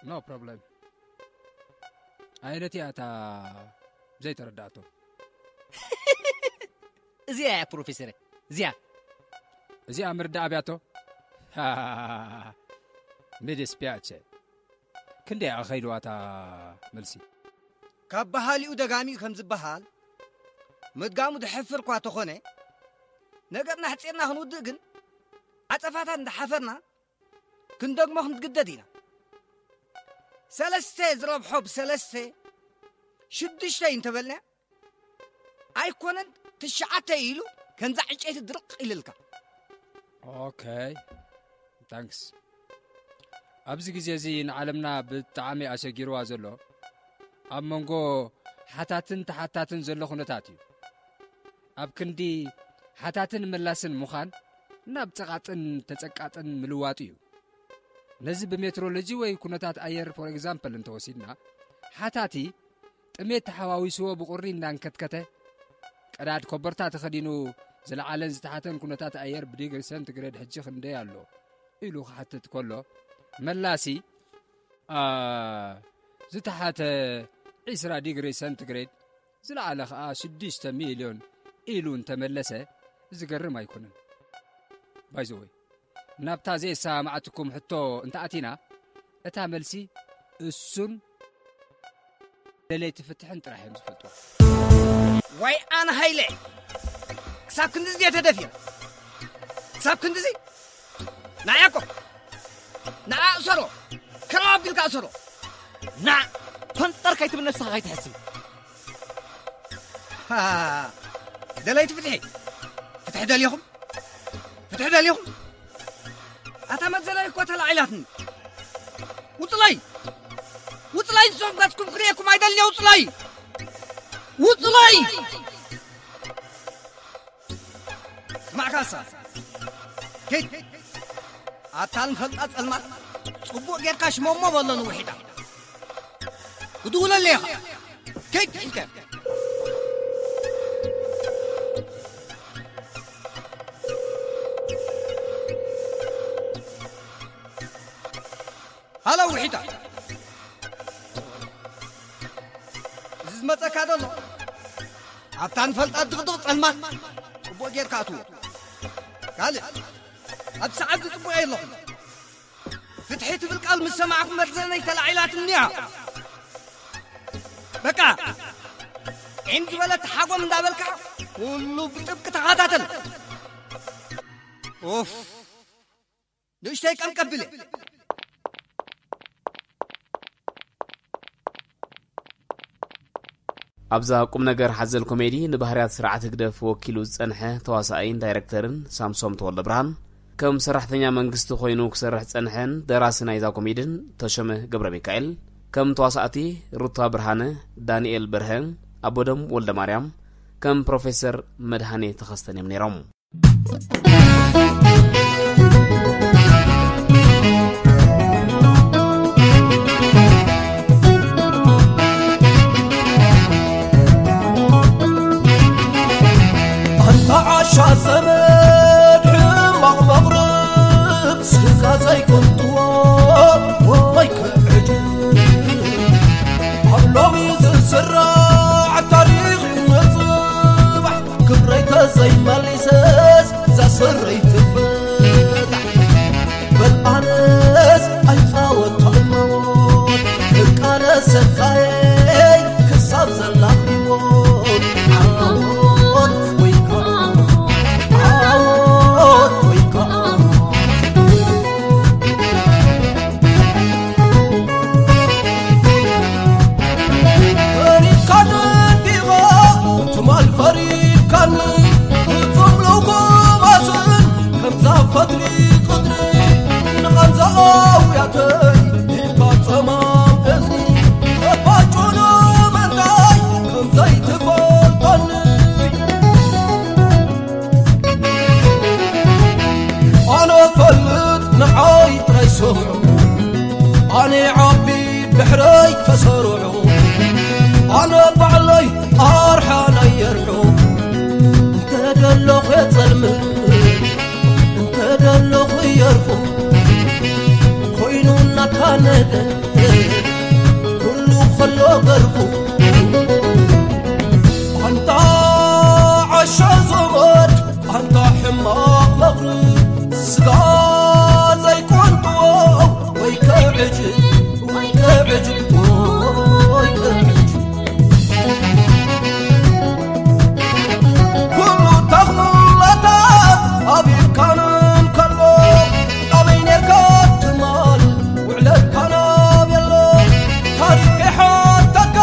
No problem። ኣየነቲ እያ እታ ዘይተረዳእቶ? እዚኣ እያ ፕሮፌሰረ፣ እዚኣ። እዚኣ ምርዳእ ኣብያቶ? Mi dispiace። ክንደይ እያ ከይድዋ እታ መልሲ? ካብ በሃሊኡ ደጋሚኡ ከም ዝበሃል፣ ምድጋሙ ድሕፍር እኳ ተኾነ፣ ነገርና ኣሕጺርና ክንውድእ ግን፣ ዓጸፋታት እንዳሓፈርና ክንደግሞ ክንግደድ ኢና። ሰለስተ ዝረብሖ ብሰለስተ፣ ሽዱሽተ እዩ እንተበልና፣ ኣይኮነን ትሽዓተ ኢሉ፣ ከምዛ ዕንጨይቲ ድርቕ ኢልልካ። ኦኬ፣ ታንክስ። ኣብዚ ግዜ እዚ ንዓለምና ብጣዕሚ ኣሸጊርዋ ዘሎ፣ ኣብ መንጎ ሓታትን ተሓታትን ዘሎ ኩነታት እዩ። ኣብ ክንዲ ሓታትን መላስን ምዃን፣ ናብ ጸቓጥን ተጸቃጥን ምልዋጥ እዩ። ነዚ ብሜትሮሎጂ ወይ ኩነታት ኣየር፣ for example፣ እንተወሲድና፣ ሓታቲ ጥሜት ተሓዋዊስዎ ብቑሪ እንዳንከትከተ፣ ቀዳድ ኮበርታ ተኸዲኑ፣ ዝለዓለን ዝተሓተን ኩነታት ኣየር ብዲግሪ ሴንቲግሬድ ሕጂ ክንደይ ኣሎ ኢሉ ክሓትት ከሎ፣ መላሲ፣ ኣ፣ ዝተሓተ ዒስራ ዲግሪ ሴንቲግሬድ፣ ዝለዓለ ኸኣ ሽዱሽተ ሚልዮን ኢሉ እንተመለሰ፣ ዝገርም ኣይኮነን። By the way፣ ናብታ ዘየሰማማዓትኩም ሕቶ እንተኣቲና፣ እታ መልሲ እሱን ደለይቲ ፍትሕን ጥራሕ እዮም ዝፈልጡ። ዋይ ኣነ ሃይለ፣ ክሳብ ክንድዚ ድየ ተደፊረ? ክሳብ ክንድዚ? ንዓ ያዕቆብ፣ ንዓ እሰሮ፣ ክራብ ኣቢልካ እሰሮ። ንዓ ፈንጠር ከይትብል ነብስኻ ከይትሕስብ። ሃ፣ ደለይቲ ፍትሒ፣ ፍትሒ ደሊኹም? ፍትሒ ደሊኹም? ኣታ መዘላይ እኮ ተላዒላትኒ። ውፅለይ! ውፅለይ! ንስኹም ገፅኩም ክርእየኩም ኣይደልየ፣ ውፅለይ! ውፅለይ! ስማዕ ካሳ፣ ኪድ፣ ኣታ ንፈልጣ ጸልማት ጽቡቕ ጌርካ ሽሞሞ በሎ ንውሒጣ። ክድውለለይ ኢኻ። ኪድ፣ ኪድ። ሃሎ ውሒጣ። እዚ ዝመጸካ ዘሎ ኣብታ ንፈልጣ ድቕድቕ ጸልማት ጽቡቕ ጌርካ ኣትዎ። ካልእ ኣብ ሰዓት ዝጽቡቕ የለኹም። ፍትሒ ትብል ቃል ምስ ሰማዕኩ መርዘነይ ተላዒላትኒ እያ። በቃ ዒም ዝበለት ሓጎም እንዳበልካ ኩሉ ብጥብቂ ተኸታተል። ኡፍ። ንእሽተይ ቀምቀም ብለ። ኣብዛ ቁም ነገር ሓዘል ኮሜዲ ንባህርያት ስርዓት ህግደፍ ወኪሉ ዝጸንሐ ተዋሳኣይን ዳይረክተርን ሳምሶም ተወልደ ብርሃን፣ ከም ሰራሕተኛ መንግስቲ ኮይኑ ክሰርሕ ጸንሐን ደራሲ ናይዛ ኮሜድን ተሾመ ገብረ ሚካኤል፣ ከም ተዋሳእቲ ሩታ ብርሃነ፣ ዳንኤል በርሀ፣ ኣቦደም ወልደ ማርያም፣ ከም ፕሮፌሰር መድሃኔ ተኸስተን እዮም ነይሮም። ኣንታ ዓሻ ዘመድ ሕማቕ መቕርብ ስጋ ዘይቅንጥዎ ወይ ክዕጅብ ኣብ ሎሚ ዝስራዕ ታሪኽ እዩ ንጽባሕ ክብረይ ተዘይመሊሰስ እዛ ስረይ ትፈታሕ በል ኣነስ ኣይጻወት ሞት ክቃለሰካየይ ክሳብ ዘላ ህይወት ዓወት ወይ ከዓ ዓወት ወይ ከዓ ፈሪድካኒ እንዲኻ ትማል ፈሪድካኒ ፍጹም ልኩማስን ከምዛ ፈትሊ ቅድሪ ንቐንዛ ኣውያተይ ኢልካ ጸማም እዝኒ ተባጩ ንምንታይ ከምዘይትፈልጠኒ ኣነ ፈልጥ ንዓይ ጥራይ ስምዑ ኣነ ዓቢ ድሕረይ ተሰርዑ ኣነ ባዕለይ ኣርሓ ናይ የርሑ እንተ ደለኹ የጸልምት እንተ ደለኹ የርፉ ኮይኑ እናካነደ ኩሉ ከሎ ገርፉ ኣንታ ዓሻ ዘመድ ኣንታ ሕማቕ መቕርብ ስጋ ዘይቆንጥዎ ወይ ከዕጅብ ወይ ከዕጅብ ወይ ከዕጅብ ኩሉ ተኽእሎታት ኣብ ኢድካን እንከሎ ኣበይ ኔርካ ትማል ውዕለትካ ናብ የሎ ታሪኽ ከይሓተካ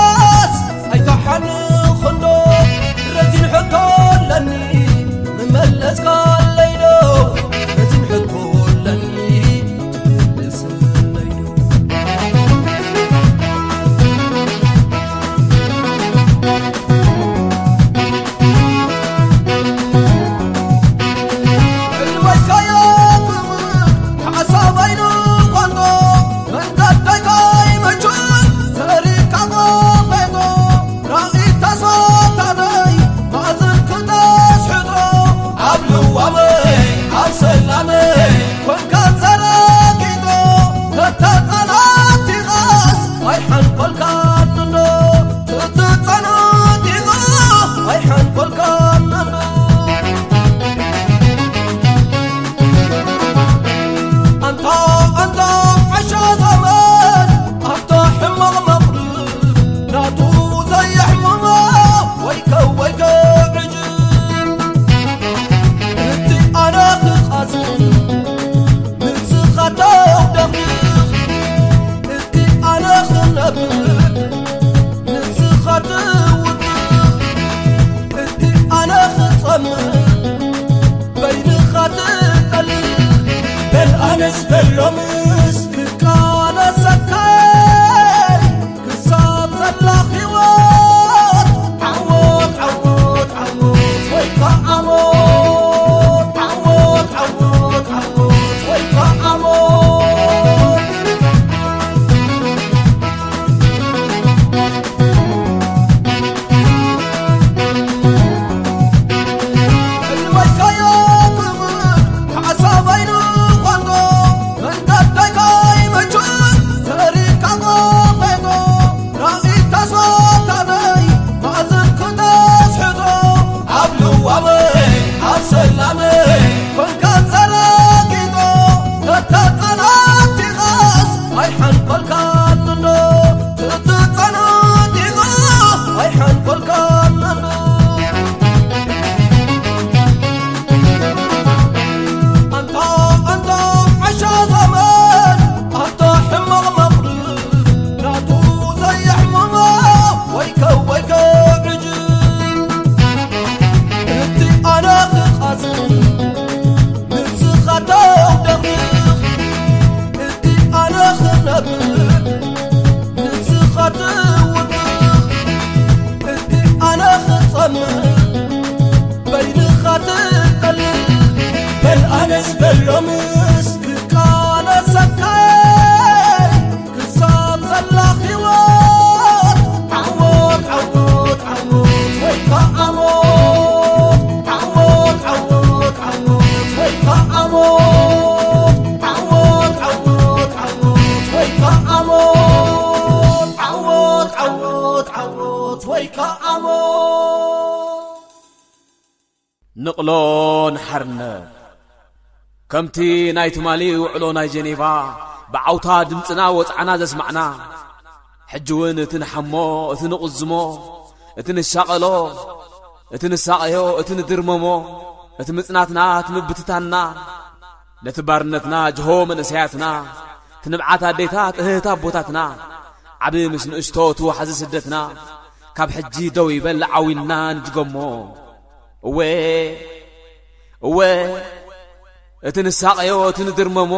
ንስኻ ትውድቕ፣ እቲ ኣነ ክጸምእ፣ በይንኻ ትጠልእ። በል ኣነስ በሎምስ ክቃለሰካየ፣ ክሳብ ዘላ ህይወት። ዓወት፣ ዓወት፣ ዓወት፣ ወይ ከኣ ሞት። ዓወት፣ ዓወት፣ ዓወት፣ ወይ ከኣ ሞት። ዓወት፣ ዓወት፣ ዓወት፣ ወይ ከኣ ሞት። ዓወት፣ ዓወት፣ ዓወት፣ ወይ ከኣ ሞት። ንቕሎ ንሓርነት። ከምቲ ናይ ትማሊ ውዕሎ ናይ ጀኔቫ ብዓውታ ድምፅና ወፅዓና ዘስማዕና፣ ሕጂ እውን እቲ ንሓሞ፣ እቲ ንቕዝሞ፣ እቲ ንሻቐሎ፣ እቲ ንሳቐዮ፣ እቲ ንድርመሞ፣ እቲ ምጽናትና፣ እቲ ምብትታንና፣ ነቲ ባርነትና ጅሆ መንእሰያትና፣ እቲ ንብዓት ኣዴታት እህህት ኣቦታትና፣ ዓቢ ምስ ንእሽቶ እቲ ወሓዚ ስደትና፣ ካብ ሕጂ ደው ይበል ዓዊልና ንድገሞ። እወ፣ እወ፣ እቲ ንሳቐዮ፣ እቲ ንድርመሞ፣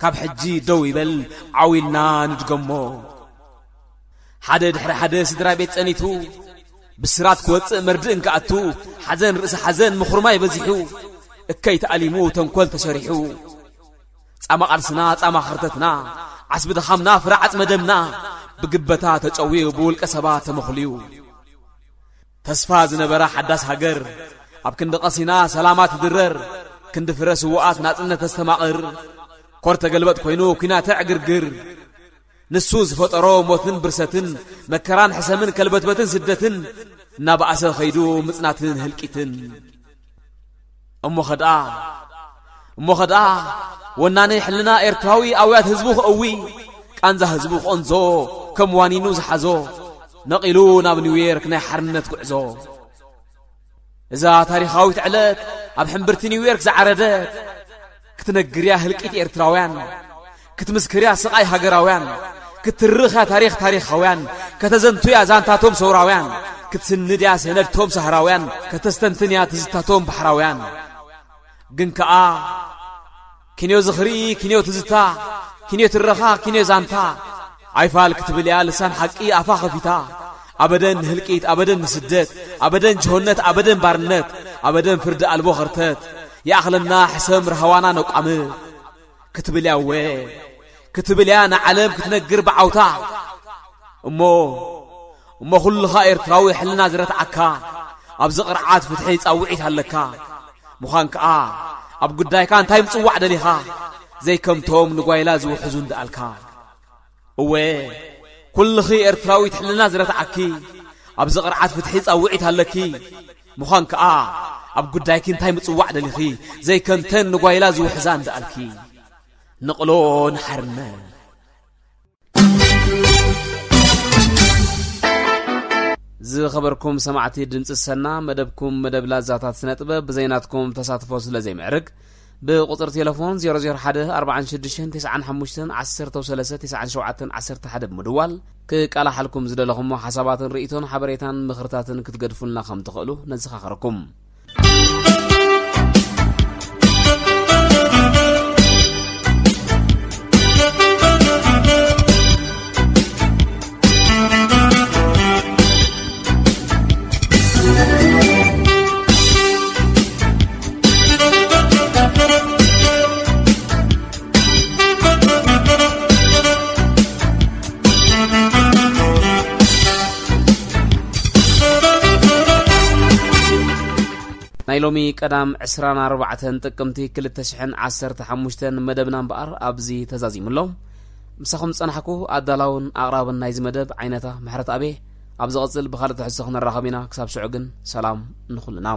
ካብ ሕጂ ደው ይበል ዓዊልና ንድገሞ። ሓደ ድሕሪ ሓደ ስድራ ቤት ጸኒቱ፣ ብስራት ክወጽእ መርድእ እንክኣቱ፣ ሓዘን ርእሲ ሓዘን ምኹርማይ በዚሑ፣ እከይ ተኣሊሙ ተንኮል ተሰሪሑ። ጻማ ቃልስና፣ ጻማ ኸርተትና፣ ዓስቢ ድኻምና፣ ፍረ ዓጽመ ደምና፣ ብግበታ ተጨውዩ፣ ብውልቀ ሰባት ተመኹልዩ። ተስፋ ዝነበራ ሓዳስ ሃገር፣ ኣብ ክንዲ ቀሲና ሰላማ ትድረር፣ ክንዲ ፍረ ስዉኣት ናጽነት ተስተማቕር። ኮር ተገልበጥ ኮይኑ ኲናት ዕግርግር። ንሱ ዝፈጠሮ ሞትን ብርሰትን፣ መከራን ሕሰምን ከልበትበትን ስደትን፣ እናበኣሰ ኸይዱ ምጽናትን ህልቂትን። እሞ ኸድኣ፣ እሞ ኸድኣ፣ ወናኒ ሕልና ኤርትራዊ ኣውያት ህዝቡ ክእዊ፣ ቃንዛ ህዝቡ ክቐንዞ፣ ከም ዋኒኑ ዝሓዞ፣ ነቒሉ ናብ ኒውዮርክ ናይ ሓርነት ጉዕዞ። እዛ ታሪኻዊት ዕለት ኣብ ሕምብርቲ ኒውዮርክ ዝዓረደት፣ ክትነግርያ ህልቂት ኤርትራውያን፣ ክትምስክርያ ስቓይ ሃገራውያን፣ ክትትርኽያ ታሪኽ ታሪኻውያን፣ ከተዘንቱያ ዛንታቶም ሰውራውያን፣ ክትስንድያ ሰነድቶም ሳህራውያን፣ ከተስተንትንያ ትዝታቶም ባሕራውያን። ግን ከኣ፣ ኪንዮ ዝኽሪ፣ ኪንዮ ትዝታ፣ ኪንዮ ትረኻ፣ ኪንዮ ዛንታ፣ ኣይፋል ክትብል እያ ልሳን ሓቂ ኣፋ ኸፊታ። ኣበደን ንህልቂት፣ ኣበደን ንስደት፣ ኣበደን ጅሆነት፣ ኣበደን ባርነት፣ ኣበደን ፍርዲ ኣልቦ ኸርተት፣ ይኣኽለና ሕሰም ርሃዋና ነቋምት ክትብል እያ። እወ፣ ክትብል እያ ንዓለም ክትነግር ብዓውታ። እሞ፣ እሞ ኩልኻ ኤርትራዊ ሕልና ዝረትዓካ፣ ኣብዚ ቅርዓት ፍትሒ ጻውዒት ኣለካ። ምዃን ከኣ፣ ኣብ ጉዳይካ እንታይ ምጽዋዕ ደሊኻ? ዘይከምቶም ንጓይላ ዝውሕዙ እንደኣልካ። እወ፣ ኩልኺ ኤርትራዊት ሕልና ዝረትዓኪ፣ ኣብዚ ቅርዓት ፍትሒ ጻውዒት ኣለኪ። ምዃን ከኣ፣ ኣብ ጉዳይኪ እንታይ ምጽዋዕ ደሊኺ? ዘይከምተን ንጓይላ ዝውሕዛ እንደኣልኪ። ንቕሎ ንሓርነት። ዝኸበርኩም ሰማዕቲ ድምፂ ሰና፣ መደብኩም መደብ ላዛታት ስነ ጥበብ ብዘይናትኩም ተሳትፎ ስለ ዘይምዕርግ፣ ብቁፅሪ ቴሌፎን ዜሮ ዜሮ ሓደ ኣርባዓን ሽዱሽተን ተስዓን ሓሙሽተን ዓሰርተ ሰለስተ ተስዓን ሸውዓተን ዓሰርተ ሓደ ብምድዋል፣ ክቃላሓልኩም ዝደለኹሞ ሓሳባትን ርእይቶን ሓበሬታን ምኽርታትን ክትገድፉልና ከም ትኽእሉ ነዘኻኸረኩም። ናይ ሎሚ ቀዳም ዕስራን ኣርባዕተን ጥቅምቲ ክልተ ሽሕን ዓሰርተ ሓሙሽተን መደብና እምበኣር ኣብዚ ተዛዚሙ ኣሎ። ምሳኹም ዝጸናሕኩ ኣዳላውን ኣቕራብን ናይዚ መደብ ዓይነታ ምሕረት ኣቤ። ኣብ ዝቐጽል ብኻልእ ትሕዝቶ ክንራኸብ ኢና። ክሳብ ሽዑ ግን ሰላም ንኹልና።